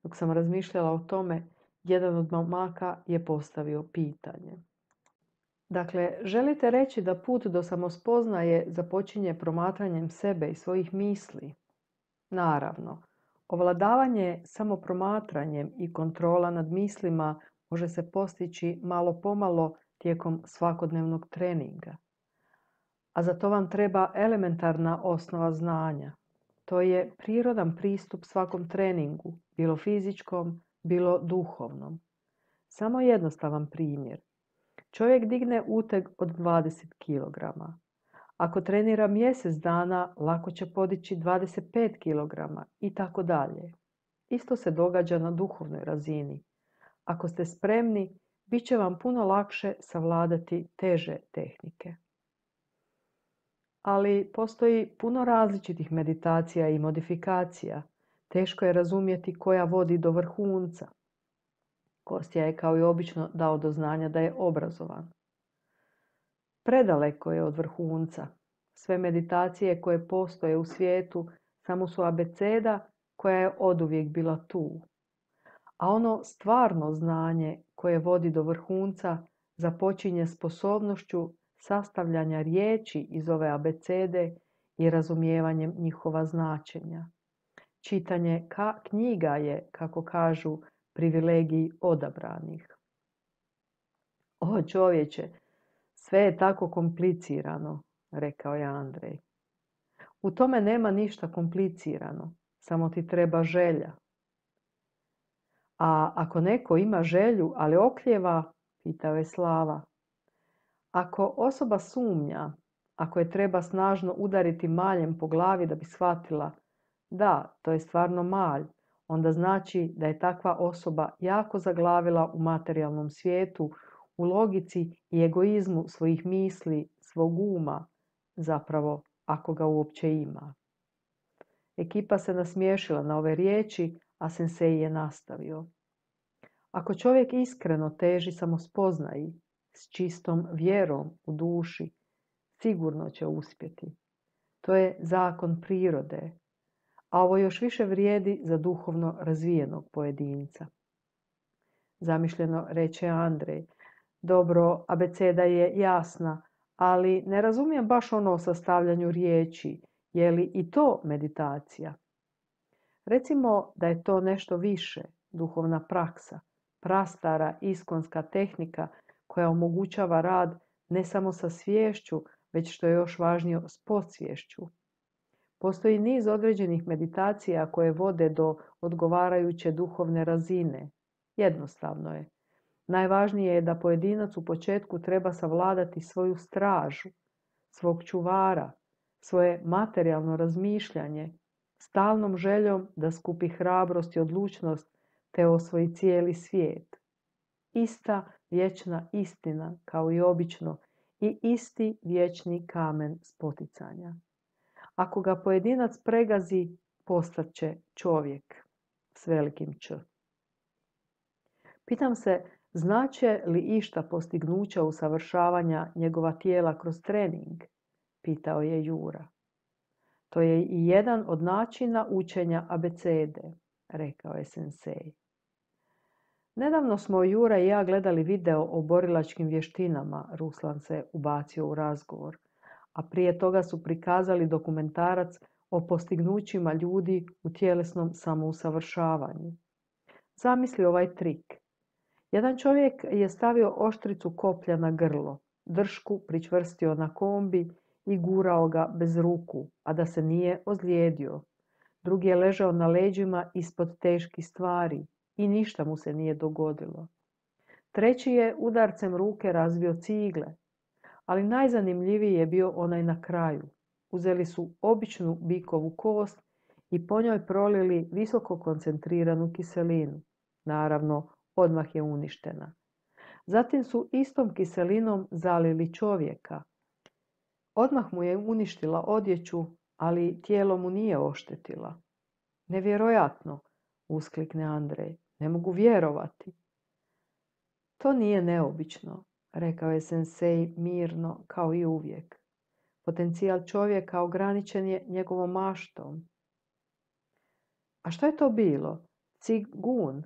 Dok sam razmišljala o tome, jedan od momaka je postavio pitanje. Dakle, želite reći da put do samospoznaje započinje promatranjem sebe i svojih misli? Naravno, ovladavanje samopromatranjem i kontrola nad mislima može se postići malo pomalo tijekom svakodnevnog treninga. A za to vam treba elementarna osnova znanja. To je prirodan pristup svakom treningu, bilo fizičkom, bilo duhovnom. Samo jednostavan primjer. Čovjek digne uteg od 20 kg. Ako trenira mjesec dana, lako će podići 25 kg i tako dalje. Isto se događa na duhovnoj razini. Ako ste spremni, bit će vam puno lakše savladati teže tehnike. Ali postoji puno različitih meditacija i modifikacija. Teško je razumjeti koja vodi do vrhunca. Kostja je kao i obično dao do znanja da je obrazovan. Predaleko je od vrhunca. Sve meditacije koje postoje u svijetu samo su abeceda koja je oduvijek bila tu. A ono stvarno znanje koje vodi do vrhunca započinje sposobnošću sastavljanja riječi iz ove abecede i razumijevanjem njihova značenja. Čitanje knjiga je, kako kažu, privilegiji odabranih. O čovječe, sve je tako komplicirano, rekao je Andrej. U tome nema ništa komplicirano, samo ti treba želja. A ako neko ima želju, ali oklijeva, pitao je Slava. Ako osoba sumnja, ako je treba snažno udariti maljem po glavi da bi shvatila da, to je stvarno malj, onda znači da je takva osoba jako zaglavila u materijalnom svijetu, u logici i egoizmu svojih misli, svog uma, zapravo ako ga uopće ima. Ekipa se nasmiješila na ove riječi, a sensei je nastavio. Ako čovjek iskreno teži samospoznaji, s čistom vjerom u duši, sigurno će uspjeti. To je zakon prirode, a ovo još više vrijedi za duhovno razvijenog pojedinca. Zamišljeno reče Andrej. Dobro, abeceda je jasna, ali ne razumijem baš ono o sastavljanju riječi. Je li i to meditacija? Recimo da je to nešto više, duhovna praksa, prastara iskonska tehnika koja omogućava rad ne samo sa sviješću, već što je još važnije s podsviješću. Postoji niz određenih meditacija koje vode do odgovarajuće duhovne razine. Jednostavno je. Najvažnije je da pojedinac u početku treba savladati svoju stražu, svog čuvara, svoje materijalno razmišljanje, stalnom željom da skupi hrabrost i odlučnost te osvoji cijeli svijet. Ista vječna istina, kao i obično, i isti vječni kamen spoticanja. Ako ga pojedinac pregazi, postat će čovjek s velikim Č. Pitam se, znače li išta postignuća usavršavanja njegova tijela kroz trening? Pitao je Jura. To je i jedan od načina učenja abecede, rekao je sensei. Nedavno smo Jura i ja gledali video o borilačkim vještinama, Ruslan se ubacio u razgovor, a prije toga su prikazali dokumentarac o postignućima ljudi u tjelesnom samousavršavanju. Zamisli ovaj trik. Jedan čovjek je stavio oštricu koplja na grlo, dršku pričvrstio na kombi i gurao ga bez ruku, a da se nije ozlijedio. Drugi je ležao na leđima ispod teških stvari i ništa mu se nije dogodilo. Treći je udarcem ruke razbio cigle, ali najzanimljiviji je bio onaj na kraju. Uzeli su običnu bikovu kost i po njoj prolili visoko koncentriranu kiselinu. Naravno, odmah je uništena. Zatim su istom kiselinom zalili čovjeka. Odmah mu je uništila odjeću, ali tijelo mu nije oštetila. Nevjerojatno, usklikne Andrej. Ne mogu vjerovati. To nije neobično, rekao je sensei mirno kao i uvijek. Potencijal čovjeka ograničen je njegovom maštom. A što je to bilo? Cigun?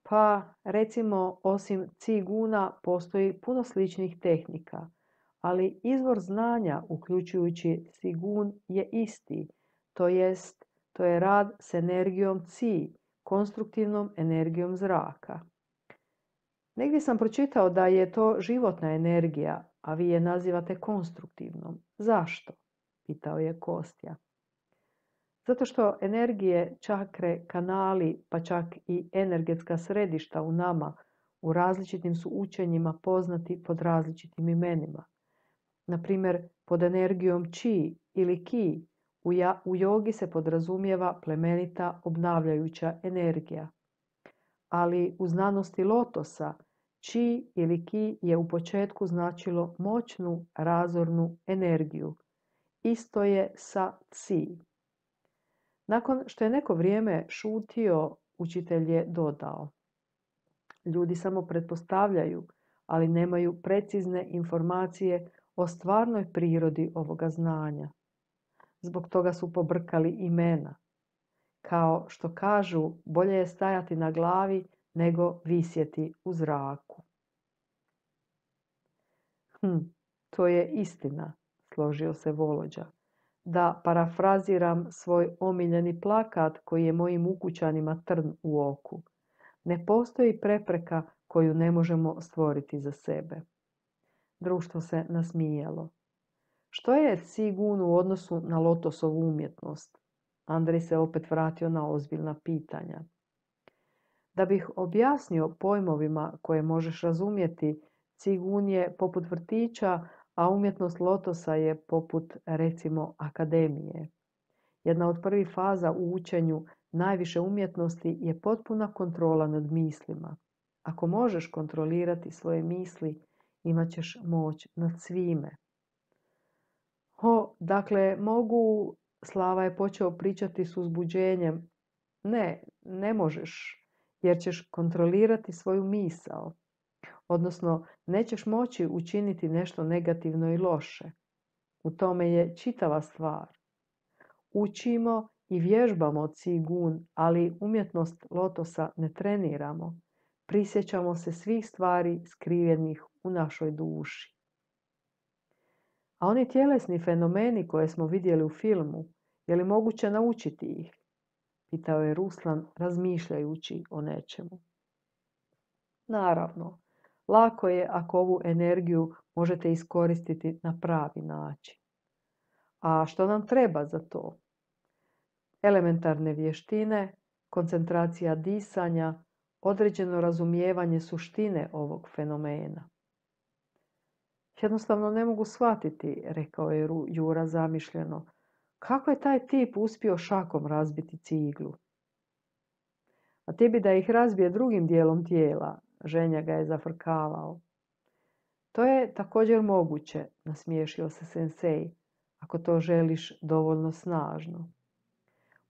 Pa, recimo, osim ciguna postoji puno sličnih tehnika, ali izvor znanja, uključujući cigun, je isti, to je rad s energijom ci, konstruktivnom energijom zraka. Negdje sam pročitao da je to životna energija, a vi je nazivate konstruktivnom. Zašto? Pitao je Kostja. Zato što energije, čakre, kanali, pa čak i energetska središta u nama u različitim su učenjima poznati pod različitim imenima. Na primjer, pod energijom chi ili ki u jogi se podrazumijeva plemenita obnavljajuća energija. Ali u znanosti lotosa chi ili ki je u početku značilo moćnu razornu energiju. Isto je sa ci. Nakon što je neko vrijeme šutio, učitelj je dodao. Ljudi samo pretpostavljaju, ali nemaju precizne informacije o stvarnoj prirodi ovoga znanja. Zbog toga su pobrkali imena. Kao što kažu, bolje je stajati na glavi nego visjeti u zraku. To je istina, složio se Volođa. Da parafraziram svoj omiljeni plakat koji je mojim ukućanima trn u oku. Ne postoji prepreka koju ne možemo stvoriti za sebe. Društvo se nasmijalo. Što je Cigun u odnosu na Lotosovu umjetnost? Andrej se opet vratio na ozbiljna pitanja. Da bih objasnio pojmovima koje možeš razumjeti, Cigun je poput vrtića, a umjetnost Lotosa je poput, recimo, akademije. Jedna od prvih faza u učenju najviše umjetnosti je potpuna kontrola nad mislima. Ako možeš kontrolirati svoje misli, imat ćeš moć nad svime. Dakle, Slava je počeo pričati s uzbuđenjem. Ne možeš, jer ćeš kontrolirati svoju misao. Odnosno, nećeš moći učiniti nešto negativno i loše. U tome je čitava stvar. Učimo i vježbamo Cigun, ali umjetnost Lotosa ne treniramo. Prisjećamo se svih stvari skrivenih u našoj duši. A oni tjelesni fenomeni koje smo vidjeli u filmu, je li moguće naučiti ih? Pitao je Ruslan, razmišljajući o nečemu. Naravno, lako je ako ovu energiju možete iskoristiti na pravi način. A što nam treba za to? Elementarne vještine, koncentracija disanja, određeno razumijevanje suštine ovog fenomena. Jednostavno ne mogu shvatiti, rekao je Jura zamišljeno, kako je taj tip uspio šakom razbiti ciglu. A ti bi da ih razbije drugim dijelom tijela, Ženja ga je zafrkavao. To je također moguće, nasmiješio se sensei, ako to želiš dovoljno snažno.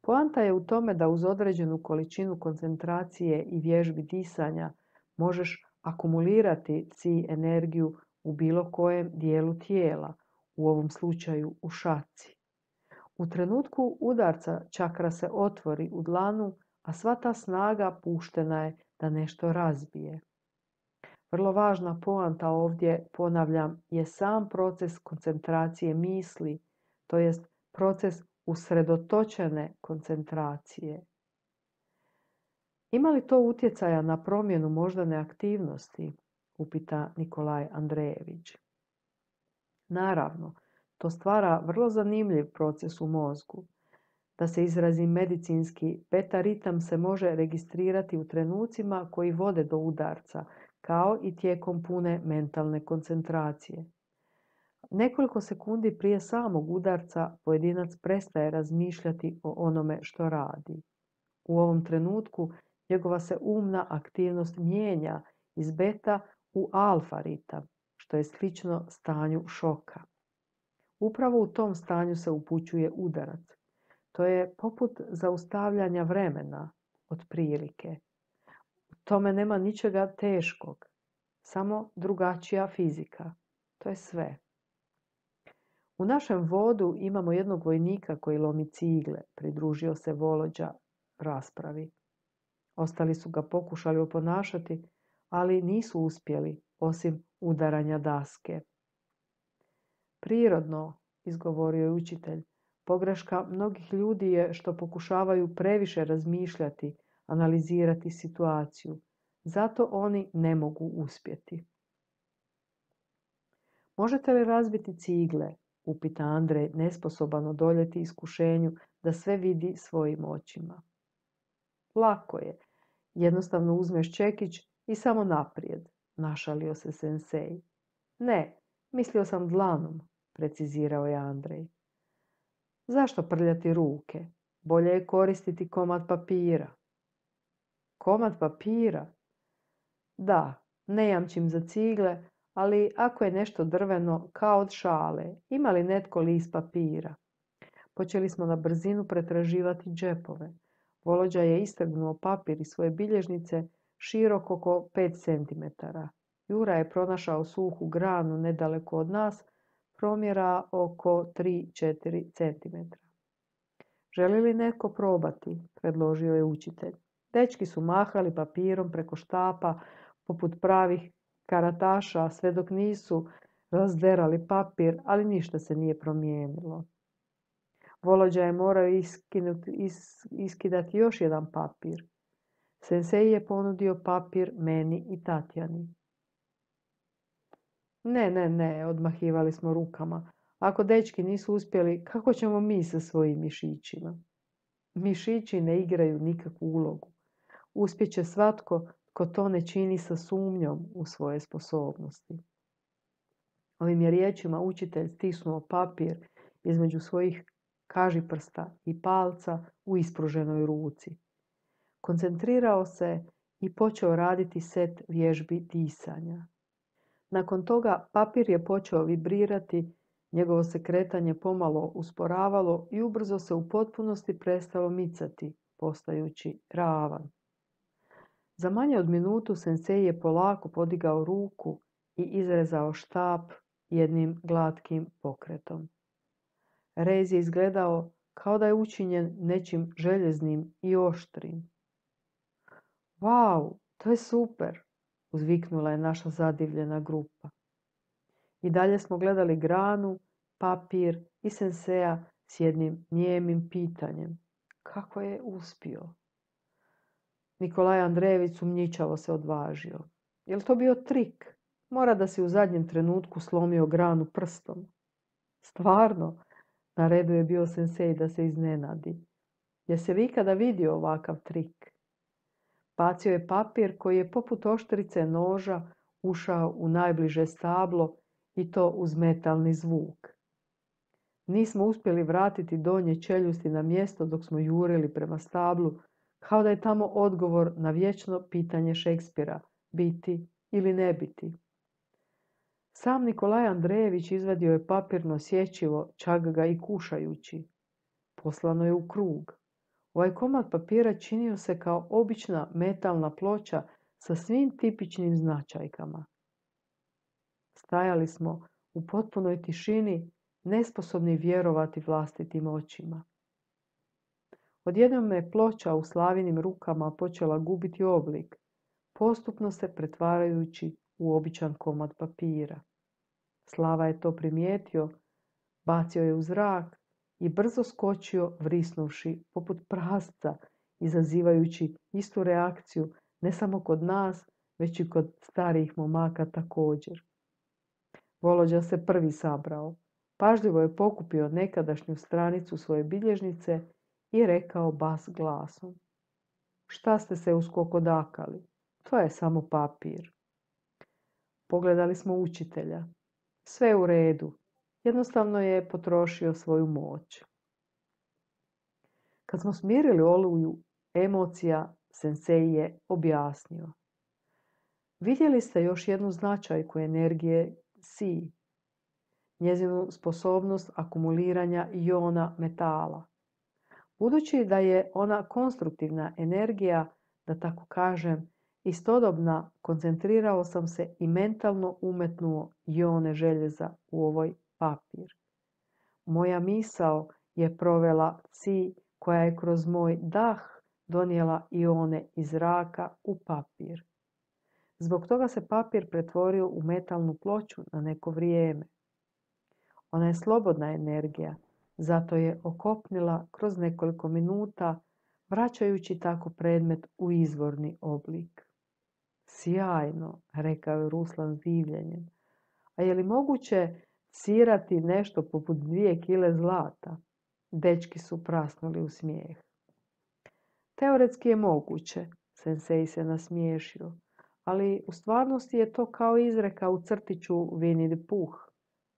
Poanta je u tome da uz određenu količinu koncentracije i vježbi disanja možeš akumulirati ci energiju u bilo kojem dijelu tijela, u ovom slučaju u šaci. U trenutku udarca čakra se otvori u dlanu, a sva ta snaga puštena je da nešto razbije. Vrlo važna poanta ovdje, ponavljam, je sam proces koncentracije misli, to jest proces usredotočene koncentracije. Ima li to utjecaja na promjenu moždane aktivnosti? Upita Nikolaj Andrejević. Naravno, to stvara vrlo zanimljiv proces u mozgu. Da se izrazim medicinski, beta ritam se može registrirati u trenucima koji vode do udarca, kao i tijekom pune mentalne koncentracije. Nekoliko sekundi prije samog udarca pojedinac prestaje razmišljati o onome što radi. U ovom trenutku njegova se umna aktivnost mijenja iz beta u alfa ritam, što je slično stanju šoka. Upravo u tom stanju se upućuje udarac. To je poput zaustavljanja vremena, otprilike. U tome nema ničega teškog, samo drugačija fizika. To je sve. U našem vodu imamo jednog vojnika koji lomi cigle, pridružio se Volođa raspravi. Ostali su ga pokušali oponašati, ali nisu uspjeli, osim udaranja daske. Prirodno, izgovorio je učitelj, pogreška mnogih ljudi je što pokušavaju previše razmišljati, analizirati situaciju. Zato oni ne mogu uspjeti. Možete li razbiti cigle? Upita Andrej, nesposoban odoljeti iskušenju da sve vidi svojim očima. Lako je. Jednostavno uzmeš čekić i samo naprijed, našalio se sensei. Ne, mislio sam dlanom, precizirao je Andrej. Zašto prljati ruke? Bolje je koristiti komad papira. Komad papira? Da, ne jamčim za cigle, ali ako je nešto drveno, kao od šale, ima li netko list papira? Počeli smo na brzinu pretraživati džepove. Volođa je istrgnuo papir iz svoje bilježnice širok oko 5 cm. Jura je pronašao suhu granu nedaleko od nas, promjera oko 3-4 cm. Želi li netko probati? Predložio je učitelj. Dečki su mahali papirom preko štapa poput pravih karataša, sve dok nisu razderali papir, ali ništa se nije promijenilo. Volođa je morao iskidati još jedan papir. Sensei je ponudio papir meni i Tatjani. Ne, odmahivali smo rukama. Ako dečki nisu uspjeli, kako ćemo mi sa svojim mišićima? Mišići ne igraju nikakvu ulogu. Uspjeće svatko tko to ne čini sa sumnjom u svoje sposobnosti. Ovim je riječima učitelj stisnuo papir između svojih kažiprsta i palca u ispruženoj ruci. Koncentrirao se i počeo raditi set vježbi disanja. Nakon toga papir je počeo vibrirati, njegovo se kretanje pomalo usporavalo i ubrzo se u potpunosti prestalo micati, postajući ravan. Za manje od minutu sensei je polako podigao ruku i izrezao štap jednim glatkim pokretom. Rez je izgledao kao da je učinjen nečim željeznim i oštrim. Vau, to je super, uzviknula je naša zadivljena grupa. I dalje smo gledali granu, papir i senseja s jednim nijemim pitanjem. Kako je uspio? Nikolaj Andrejević sumnjičavo se odvažio. Je li to bio trik? Mora da si u zadnjem trenutku slomio granu prstom. Stvarno, na redu je bio sensej da se iznenadi. Jesi li ikada vidio ovakav trik? Bacio je papir koji je poput oštrice noža ušao u najbliže stablo i to uz metalni zvuk. Nismo uspjeli vratiti donje čeljusti na mjesto dok smo jurili prema stablu, kao da je tamo odgovor na vječno pitanje Šekspira, biti ili ne biti. Sam Nikolaj Andrejević izvadio je papirno sječivo, čak ga i kušajući. Poslano je u krug. Ovaj komad papira činio se kao obična metalna ploča sa svim tipičnim značajkama. Stajali smo u potpunoj tišini, nesposobni vjerovati vlastitim očima. Odjednom je ploča u Slavinim rukama počela gubiti oblik, postupno se pretvarajući u običan komad papira. Slava je to primijetio, bacio je u zrak i brzo skočio vrisnuvši poput prasca, izazivajući istu reakciju ne samo kod nas, već i kod starijih momaka također. Volođa se prvi sabrao. Pažljivo je pokupio nekadašnju stranicu svoje bilježnice i rekao bas glasom. Šta ste se uskokodakali? To je samo papir. Pogledali smo učitelja. Sve u redu. Jednostavno je potrošio svoju moć. Kad smo smirili oluju emocija, sensei je objasnio. Vidjeli ste još jednu značajku energije Si, njezinu sposobnost akumuliranja iona metala. Budući da je ona konstruktivna energija, da tako kažem, istodobna, koncentrirao sam se i mentalno umetnuo ione željeza u ovoj papir. Moja misao je provela Ci koja je kroz moj dah donijela ione iz zraka u papir. Zbog toga se papir pretvorio u metalnu ploču na neko vrijeme. Ona je slobodna energija, zato je okopnila kroz nekoliko minuta, vraćajući tako predmet u izvorni oblik. Sjajno, rekao je Ruslan s divljenjem. A je li moguće cirati nešto poput 2 kile zlata? Dečki su prasnuli u smijeh. Teoretski je moguće, sensei se nasmiješio, ali u stvarnosti je to kao izreka u crtiću Winnie the Pooh.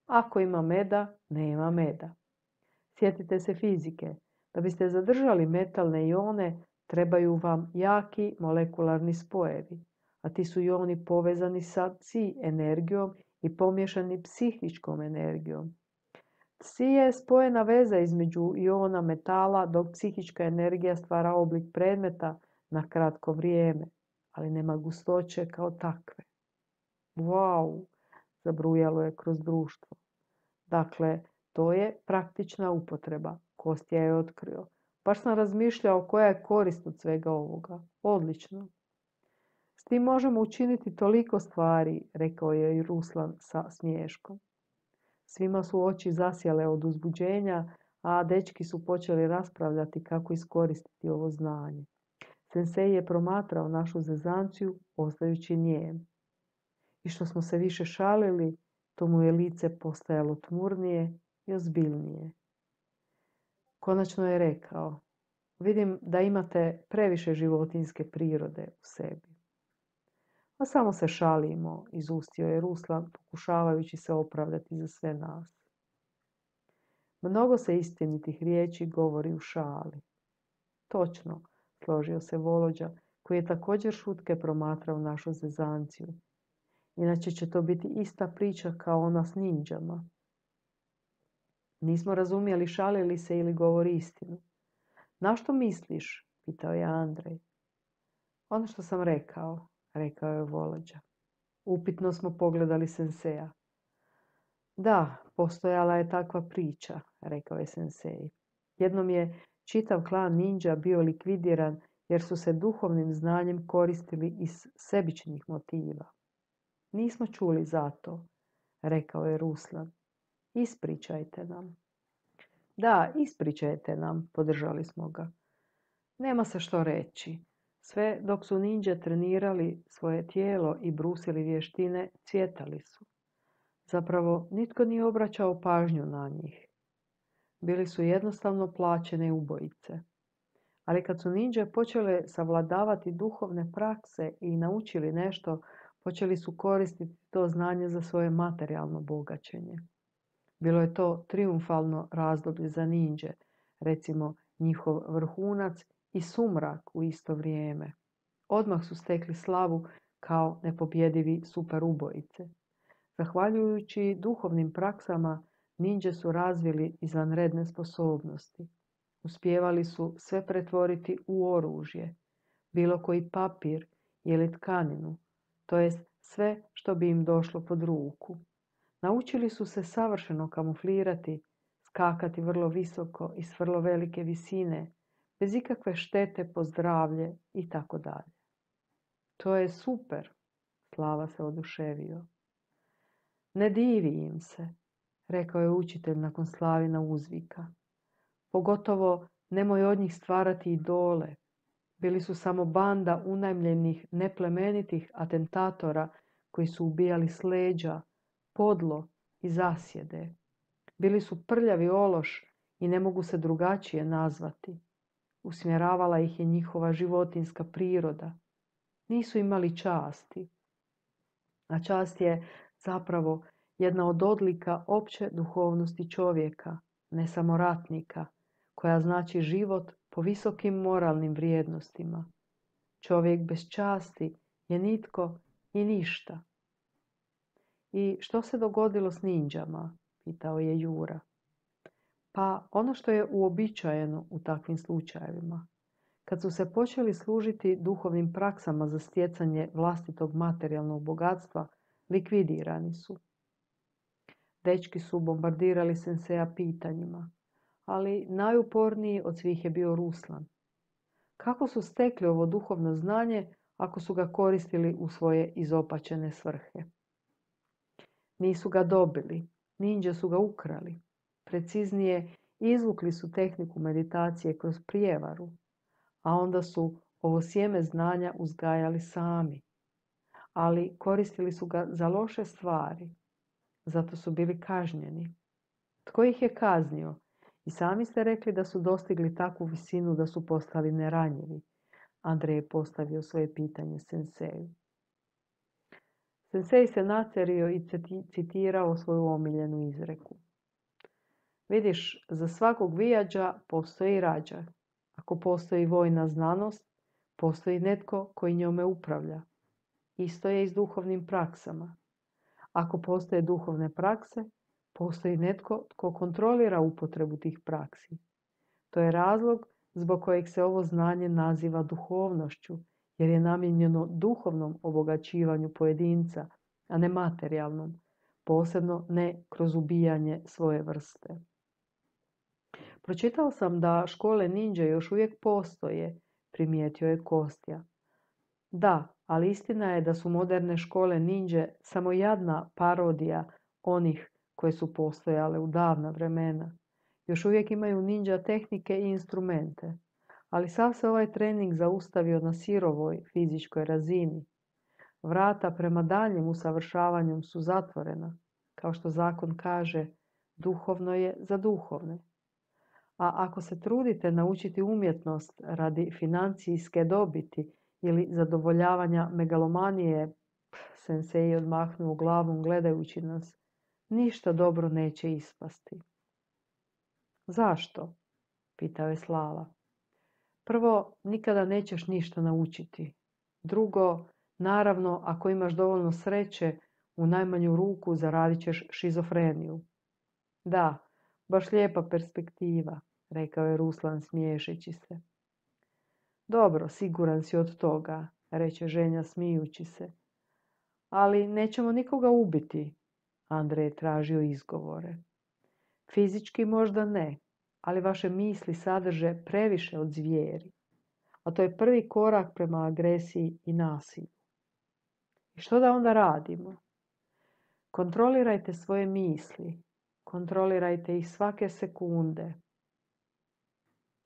Ako ima meda, nema meda. Sjetite se fizike. Da biste zadržali metalne ione, trebaju vam jaki molekularni spojevi, a ti su ioni povezani sa Ci energijom i pomiješani psihičkom energijom. Ci je spojena veza između iona metala, dok psihička energija stvara oblik predmeta na kratko vrijeme, ali nema gustoće kao takve. Wow, zabrujalo je kroz društvo. Dakle, to je praktična upotreba, Kostja je otkrio. Baš sam razmišljao koja je korist od svega ovoga. Odlično. S tim možemo učiniti toliko stvari, rekao je i Ruslan sa smiješkom. Svima su oči zasjale od uzbuđenja, a dečki su počeli raspravljati kako iskoristiti ovo znanje. Sensei je promatrao našu zezanciju, ostajući nijem. I što smo se više šalili, to mu je lice postajalo tmurnije i ozbiljnije. Konačno je rekao: vidim da imate previše životinjske prirode u sebi. A samo se šalimo, izustio je Ruslan, pokušavajući se opravdati za sve nas. Mnogo se istinitih riječi govori u šali. Točno, složio se Volođa, koji je također šutke promatrao našu zezanciju. Inače će to biti ista priča kao ona s ninđama. Nismo razumjeli šali li se ili govori istinu. Na što misliš? Pitao je Andrej. Ono što sam rekao, rekao je Volođa. Upitno smo pogledali Senseja. Da, postojala je takva priča, rekao je Sensei. Jednom je čitav klan ninđa bio likvidiran jer su se duhovnim znanjem koristili iz sebičnih motiva. Nismo čuli za to, rekao je Ruslan. Ispričajte nam. Da, ispričajte nam, podržali smo ga. Nema se što reći. Sve dok su ninđe trenirali svoje tijelo i brusili vještine, cvjetali su. Zapravo, nitko nije obraćao pažnju na njih. Bili su jednostavno plaćene ubojice. Ali kad su ninđe počele savladavati duhovne prakse i naučili nešto, počeli su koristiti to znanje za svoje materijalno bogaćenje. Bilo je to trijumfalno razdoblje za ninđe, recimo njihov vrhunac i sumrak u isto vrijeme. Odmah su stekli slavu kao nepobjedivi super ubojice. Zahvaljujući duhovnim praksama, ninđe su razvili izvanredne sposobnosti. Uspijevali su sve pretvoriti u oružje, bilo koji papir ili tkaninu, to jest sve što bi im došlo pod ruku. Naučili su se savršeno kamuflirati, skakati vrlo visoko i s vrlo velike visine, bez ikakve štete po zdravlje i tako dalje. To je super, Slava se oduševio. Ne divi im se, rekao je učitelj nakon Slavina uzvika. Pogotovo nemoj od njih stvarati idole. Bili su samo banda unajmljenih, neplemenitih atentatora koji su ubijali s leđa, podlo i zasjede. Bili su prljavi ološ i ne mogu se drugačije nazvati. Usmjeravala ih je njihova životinjska priroda. Nisu imali časti. A čast je zapravo jedna od odlika opće duhovnosti čovjeka, ne samo ratnika, koja znači život po visokim moralnim vrijednostima. Čovjek bez časti je nitko i ništa. I što se dogodilo s ninđama? Pitao je Jura. Pa ono što je uobičajeno u takvim slučajevima. Kad su se počeli služiti duhovnim praksama za stjecanje vlastitog materijalnog bogatstva, likvidirani su. Dečki su bombardirali Senseja pitanjima, ali najuporniji od svih je bio Ruslan. Kako su stekli ovo duhovno znanje ako su ga koristili u svoje izopačene svrhe? Nisu ga dobili, ninđe su ga ukrali. Preciznije, izvukli su tehniku meditacije kroz prijevaru, a onda su ovo sjeme znanja uzgajali sami. Ali koristili su ga za loše stvari, zato su bili kažnjeni. Tko ih je kaznio? I sami ste rekli da su dostigli takvu visinu da su postali neranjivi. Andrej je postavio svoje pitanje Senseju. Sensei se nacerio i citirao svoju omiljenu izreku. Vidiš, za svakog vijađa postoji rađa. Ako postoji vojna znanost, postoji netko koji njome upravlja. Isto je i s duhovnim praksama. Ako postoje duhovne prakse, postoji netko tko kontrolira upotrebu tih praksi. To je razlog zbog kojeg se ovo znanje naziva duhovnošću, jer je namijenjeno duhovnom obogaćivanju pojedinca, a ne materijalnom, posebno ne kroz ubijanje svoje vrste. Pročitao sam da škole ninđe još uvijek postoje, primijetio je Kostja. Da, ali istina je da su moderne škole ninđe samo jadna parodija onih koje su postojale u davna vremena. Još uvijek imaju ninđa tehnike i instrumente, Ali sav se ovaj trening zaustavio na sirovoj fizičkoj razini. Vrata prema daljem usavršavanju su zatvorena. Kao što zakon kaže, duhovno je za duhovne. A ako se trudite naučiti umjetnost radi financijske dobiti ili zadovoljavanja megalomanije, sensei odmahnuo glavom gledajući nas, ništa dobro neće ispasti. Zašto? Pitao je Slava. Prvo, nikada nećeš ništa naučiti. Drugo, naravno, ako imaš dovoljno sreće, u najmanju ruku zaradit ćeš šizofreniju. Da, baš lijepa perspektiva, rekao je Ruslan smiješeći se. Dobro, siguran si od toga, reče ženja smijući se. Ali nećemo nikoga ubiti, Andrej je tražio izgovore. Fizički možda ne, ali vaše misli sadrže previše od zvijeri. A to je prvi korak prema agresiji i nasilju. I što da onda radimo? Kontrolirajte svoje misli. Kontrolirajte ih svake sekunde.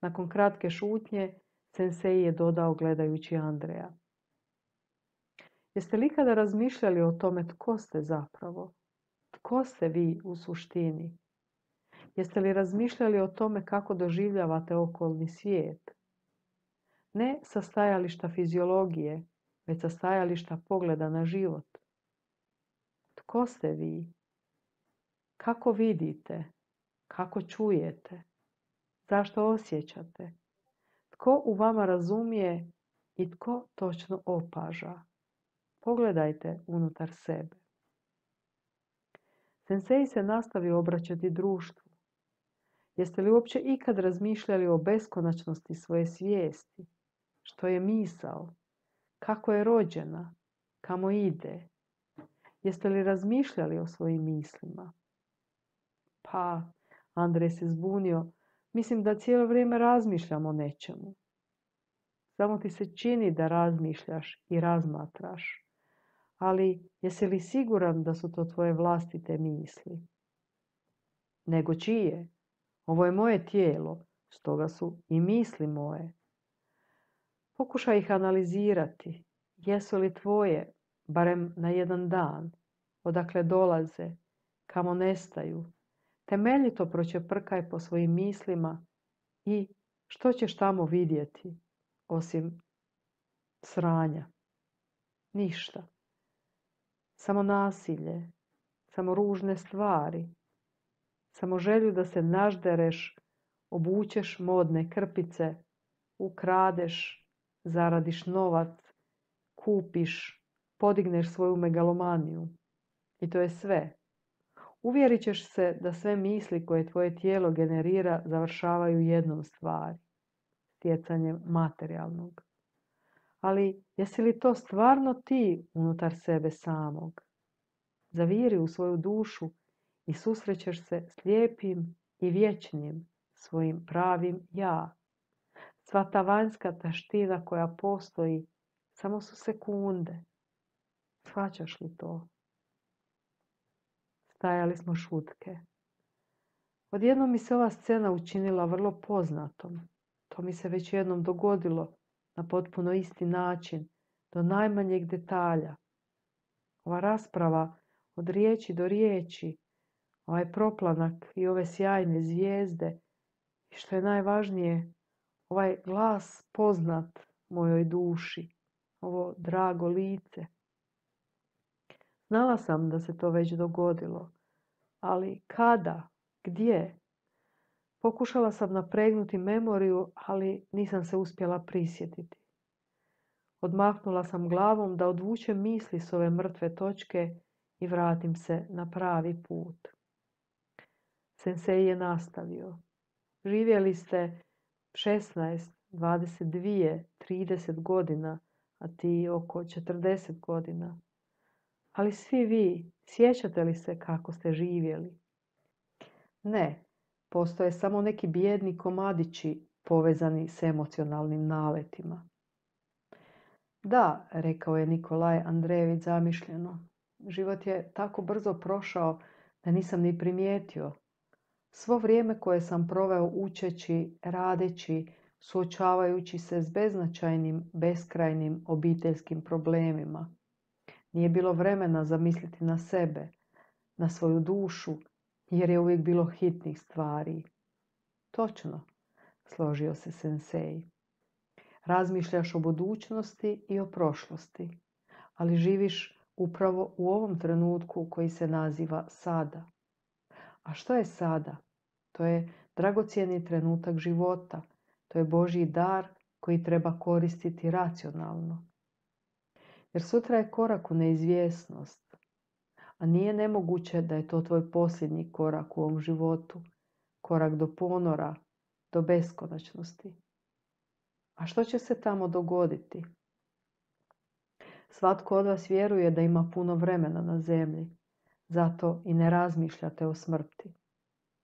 Nakon kratke šutnje, sensei je dodao gledajući Andreja. Jeste li ikada razmišljali o tome tko ste zapravo? Tko ste vi u suštini? Jeste li razmišljali o tome kako doživljavate okolni svijet? Ne sa stajališta fiziologije, već sa stajališta pogleda na život. Tko ste vi? Kako vidite? Kako čujete? Zašto osjećate? Tko u vama razumije i tko točno opaža? Pogledajte unutar sebe. Sensei se nastavio obraćati društvu. Jeste li uopće ikad razmišljali o beskonačnosti svoje svijesti? Što je misao? Kako je rođena? Kamo ide? Jeste li razmišljali o svojim mislima? Pa, Andrej se zbunio, mislim da cijelo vrijeme razmišljam o nečemu. Samo ti se čini da razmišljaš i razmatraš. Ali jesi li siguran da su to tvoje vlastite misli? Nego čije? Ovo je moje tijelo, stoga su i misli moje. Pokušaj ih analizirati. Jesu li tvoje, barem na jedan dan? Odakle dolaze? Kamo nestaju? Temeljito pročeprkaj po svojim mislima i što ćeš tamo vidjeti, osim sranja? Ništa. Samo nasilje, samo ružne stvari, samo želju da se naždereš, obučeš modne krpice, ukradeš, zaradiš novac, kupiš, podigneš svoju megalomaniju. I to je sve. Uvjerit ćeš se da sve misli koje tvoje tijelo generira završavaju jednom stvari, stjecanjem materijalnog. Ali jesi li to stvarno ti unutar sebe samog? Zaviri u svoju dušu i susrećeš se s lijepim i vječnim svojim pravim ja. Sva ta vanjska taština koja postoji samo su sekunde. Shvaćaš li to? Stajali smo šutke. Odjednom mi se ova scena učinila vrlo poznatom. To mi se već jednom dogodilo na potpuno isti način, do najmanjeg detalja. Ova rasprava od riječi do riječi, ovaj proplanak i ove sjajne zvijezde i što je najvažnije, ovaj glas poznat mojoj duši, ovo drago lice. Znala sam da se to već dogodilo, ali kada, gdje? Pokušala sam napregnuti memoriju, ali nisam se uspjela prisjetiti. Odmahnula sam glavom da odvučem misli s ove mrtve točke i vratim se na pravi put. Sensei je nastavio. Živjeli ste 16, 22, 30 godina, a ti oko 40 godina. Ali svi vi, sjećate li se kako ste živjeli? Ne, postoje samo neki bijedni komadići povezani s emocionalnim naletima. Da, rekao je Nikolaj Andrejević zamišljeno. Život je tako brzo prošao da nisam ni primijetio. Svo vrijeme koje sam proveo učeći, radeći, suočavajući se s beznačajnim, beskrajnim obiteljskim problemima. Nije bilo vremena zamisliti na sebe, na svoju dušu, jer je uvijek bilo hitnih stvari. Točno, složio se sensei. Razmišljaš o budućnosti i o prošlosti, ali živiš upravo u ovom trenutku koji se naziva sada. A što je sada? To je dragocjeni trenutak života. To je Božji dar koji treba koristiti racionalno. Jer sutra je korak u neizvjesnost. A nije nemoguće da je to tvoj posljednji korak u ovom životu. Korak do ponora, do beskonačnosti. A što će se tamo dogoditi? Svatko od vas vjeruje da ima puno vremena na zemlji. Zato i ne razmišljate o smrti.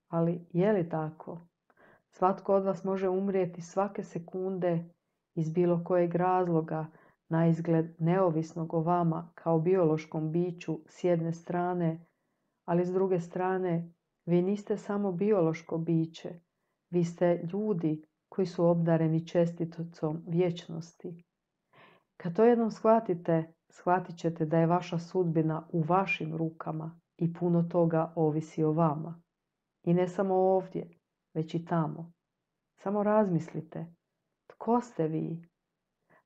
Ali je li tako? Svatko od vas može umrijeti svake sekunde iz bilo kojeg razloga, na izgled neovisnog o vama kao biološkom biću s jedne strane, ali s druge strane vi niste samo biološko biće, vi ste ljudi koji su obdareni čestiticom vječnosti. Kad to jednom shvatite, shvatit ćete da je vaša sudbina u vašim rukama i puno toga ovisi o vama. I ne samo ovdje, već i tamo. Samo razmislite, tko ste vi?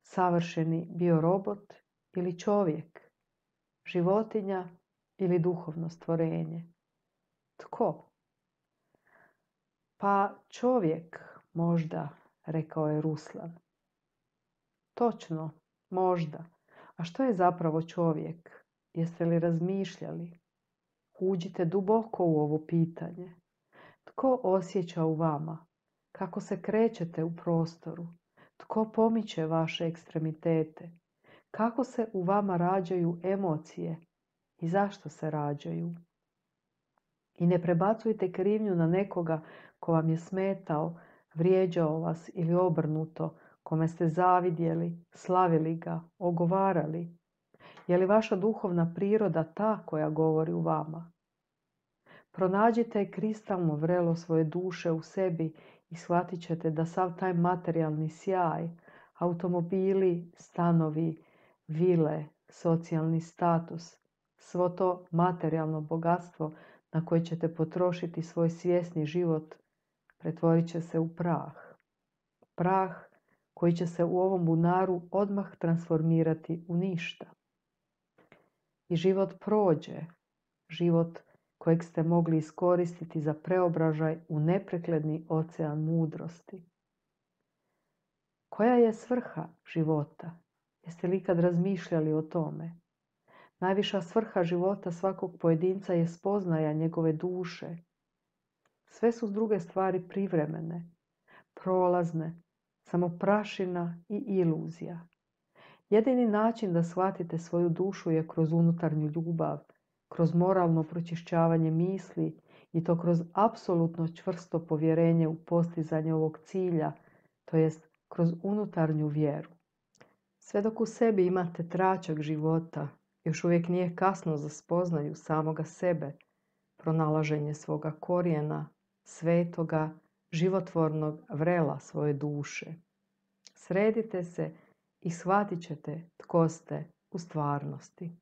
Savršeni biorobot ili čovjek? Životinja ili duhovno stvorenje? Tko? Pa čovjek, možda, rekao je Ruslan. Točno, možda. A što je zapravo čovjek? Jeste li razmišljali? Uđite duboko u ovo pitanje. Tko osjeća u vama? Kako se krećete u prostoru? Tko pomiče vaše ekstremitete? Kako se u vama rađaju emocije? I zašto se rađaju? I ne prebacujte krivnju na nekoga ko vam je smetao, vrijeđao vas ili obrnuto, kome ste zavidjeli, slavili ga, ogovarali. Je li vaša duhovna priroda ta koja govori u vama? Pronađite kristalno vrelo svoje duše u sebi i shvatit ćete da sav taj materijalni sjaj, automobili, stanovi, vile, socijalni status, svo to materijalno bogatstvo na koje ćete potrošiti svoj svjesni život, pretvorit će se u prah. Prah koji će se u ovom bunaru odmah transformirati u ništa. I život prođe, život kojeg ste mogli iskoristiti za preobražaj u neprekledni ocean mudrosti. Koja je svrha života? Jeste li ikad razmišljali o tome? Najviša svrha života svakog pojedinca je spoznaja njegove duše. Sve su s druge stvari privremene, prolazne, samo prašina i iluzija. Jedini način da shvatite svoju dušu je kroz unutarnju ljubav, kroz moralno pročišćavanje misli i to kroz apsolutno čvrsto povjerenje u postizanje ovog cilja, to jest kroz unutarnju vjeru. Sve dok u sebi imate tračak života, još uvijek nije kasno za spoznaju samoga sebe, pronalaženje svoga korijena, svetoga, životvornog vrela svoje duše. Sredite se i shvatit ćete tko ste u stvarnosti.